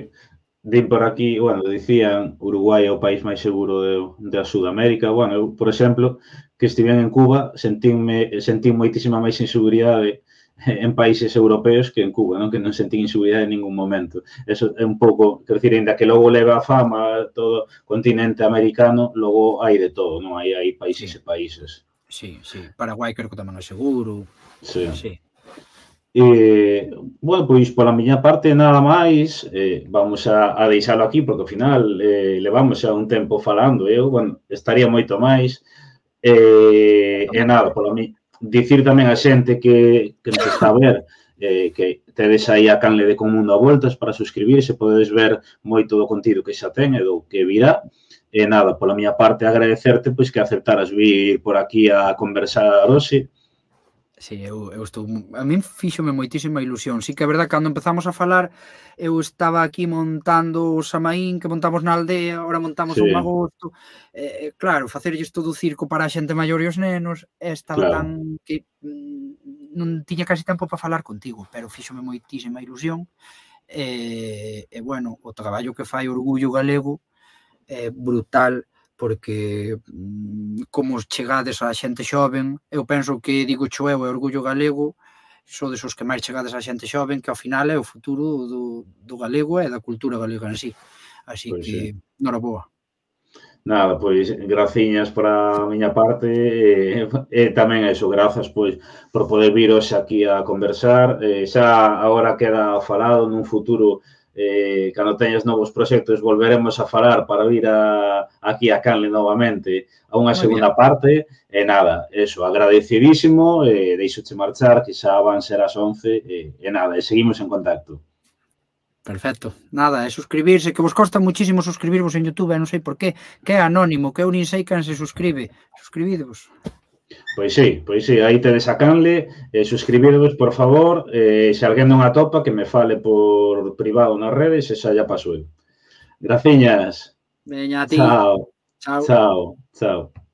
Din por aquí, bueno, dicían Uruguai é o país máis seguro de, de Sudamérica. Bueno, eu, por exemplo, que estive en Cuba, sentinme, sentín moitísima máis inseguridade en países europeos que en Cuba, non? Que non sentín inseguridade en ningún momento. Eso é un pouco, quero dicir, ainda que logo leva a fama todo o continente americano, logo hai de todo, non? Hai, hai países Sí. e países. Sí, sí. Paraguai creo que tamén é seguro. Sí. Sí. Eh, bueno, pois pola miña parte nada máis, eh, vamos a, a deixalo aquí porque ao final eh, levamos xa un tempo falando, eu, bueno, estaría moito máis, eh, e nada, pola mi, dicir tamén a xente que, que nos está a ver, eh, que tedes aí a canle de Con Mundo a Voltas para suscribirse, podedes ver moito do contido que xa ten e do que virá, e nada, pola miña parte agradecerte pois que aceptaras vir por aquí a conversar hoxe. Sí, eu, eu estou... A min fíxome moitísima ilusión. Sí que é verdad que cando empezamos a falar eu estaba aquí montando o Samaín que montamos na aldea, agora montamos Sí. un magosto. Eh, claro, facerlles todo o circo para a xente maior e os nenos, estaba Claro. tan que mm, non tiña casi tempo para falar contigo, pero fíxome moitísima ilusión. E, e bueno, o traballo que fai Orgullo Galego é brutal, porque como chegades á xente xoven, eu penso que digo cho eu e Orgullo Galego, sodes os que máis chegades á xente xoven, que ao final é o futuro do, do galego e da cultura galega en sí. Así Pois que, sí. noraboa. Nada, pois, graciñas por a miña parte e, e tamén eso, grazas pois por poder vir hoxe aquí a conversar. Eh, xa agora queda falado nun futuro, eh, cando teñas novos proxectos volveremos a falar para vir a, aquí a Canle novamente a unha Moi segunda bien. parte e nada, eso, agradecidísimo e deixoche marchar que xa van ser as once e, e nada, e seguimos en contacto. Perfecto. Nada, é suscribirse, que vos costa muchísimo suscribirvos en YouTube, e non sei por qué, que é anónimo, que eu nin sei quen se suscribe. Suscribidevos. Pois sí, pois sí, aí tedes a Canle, eh, suscribirvos, por favor, eh, se alguén non atopa, que me fale por privado nas redes e xa ya paso eu. Graciñas. Veña a ti. Chao, Chao. chao, chao.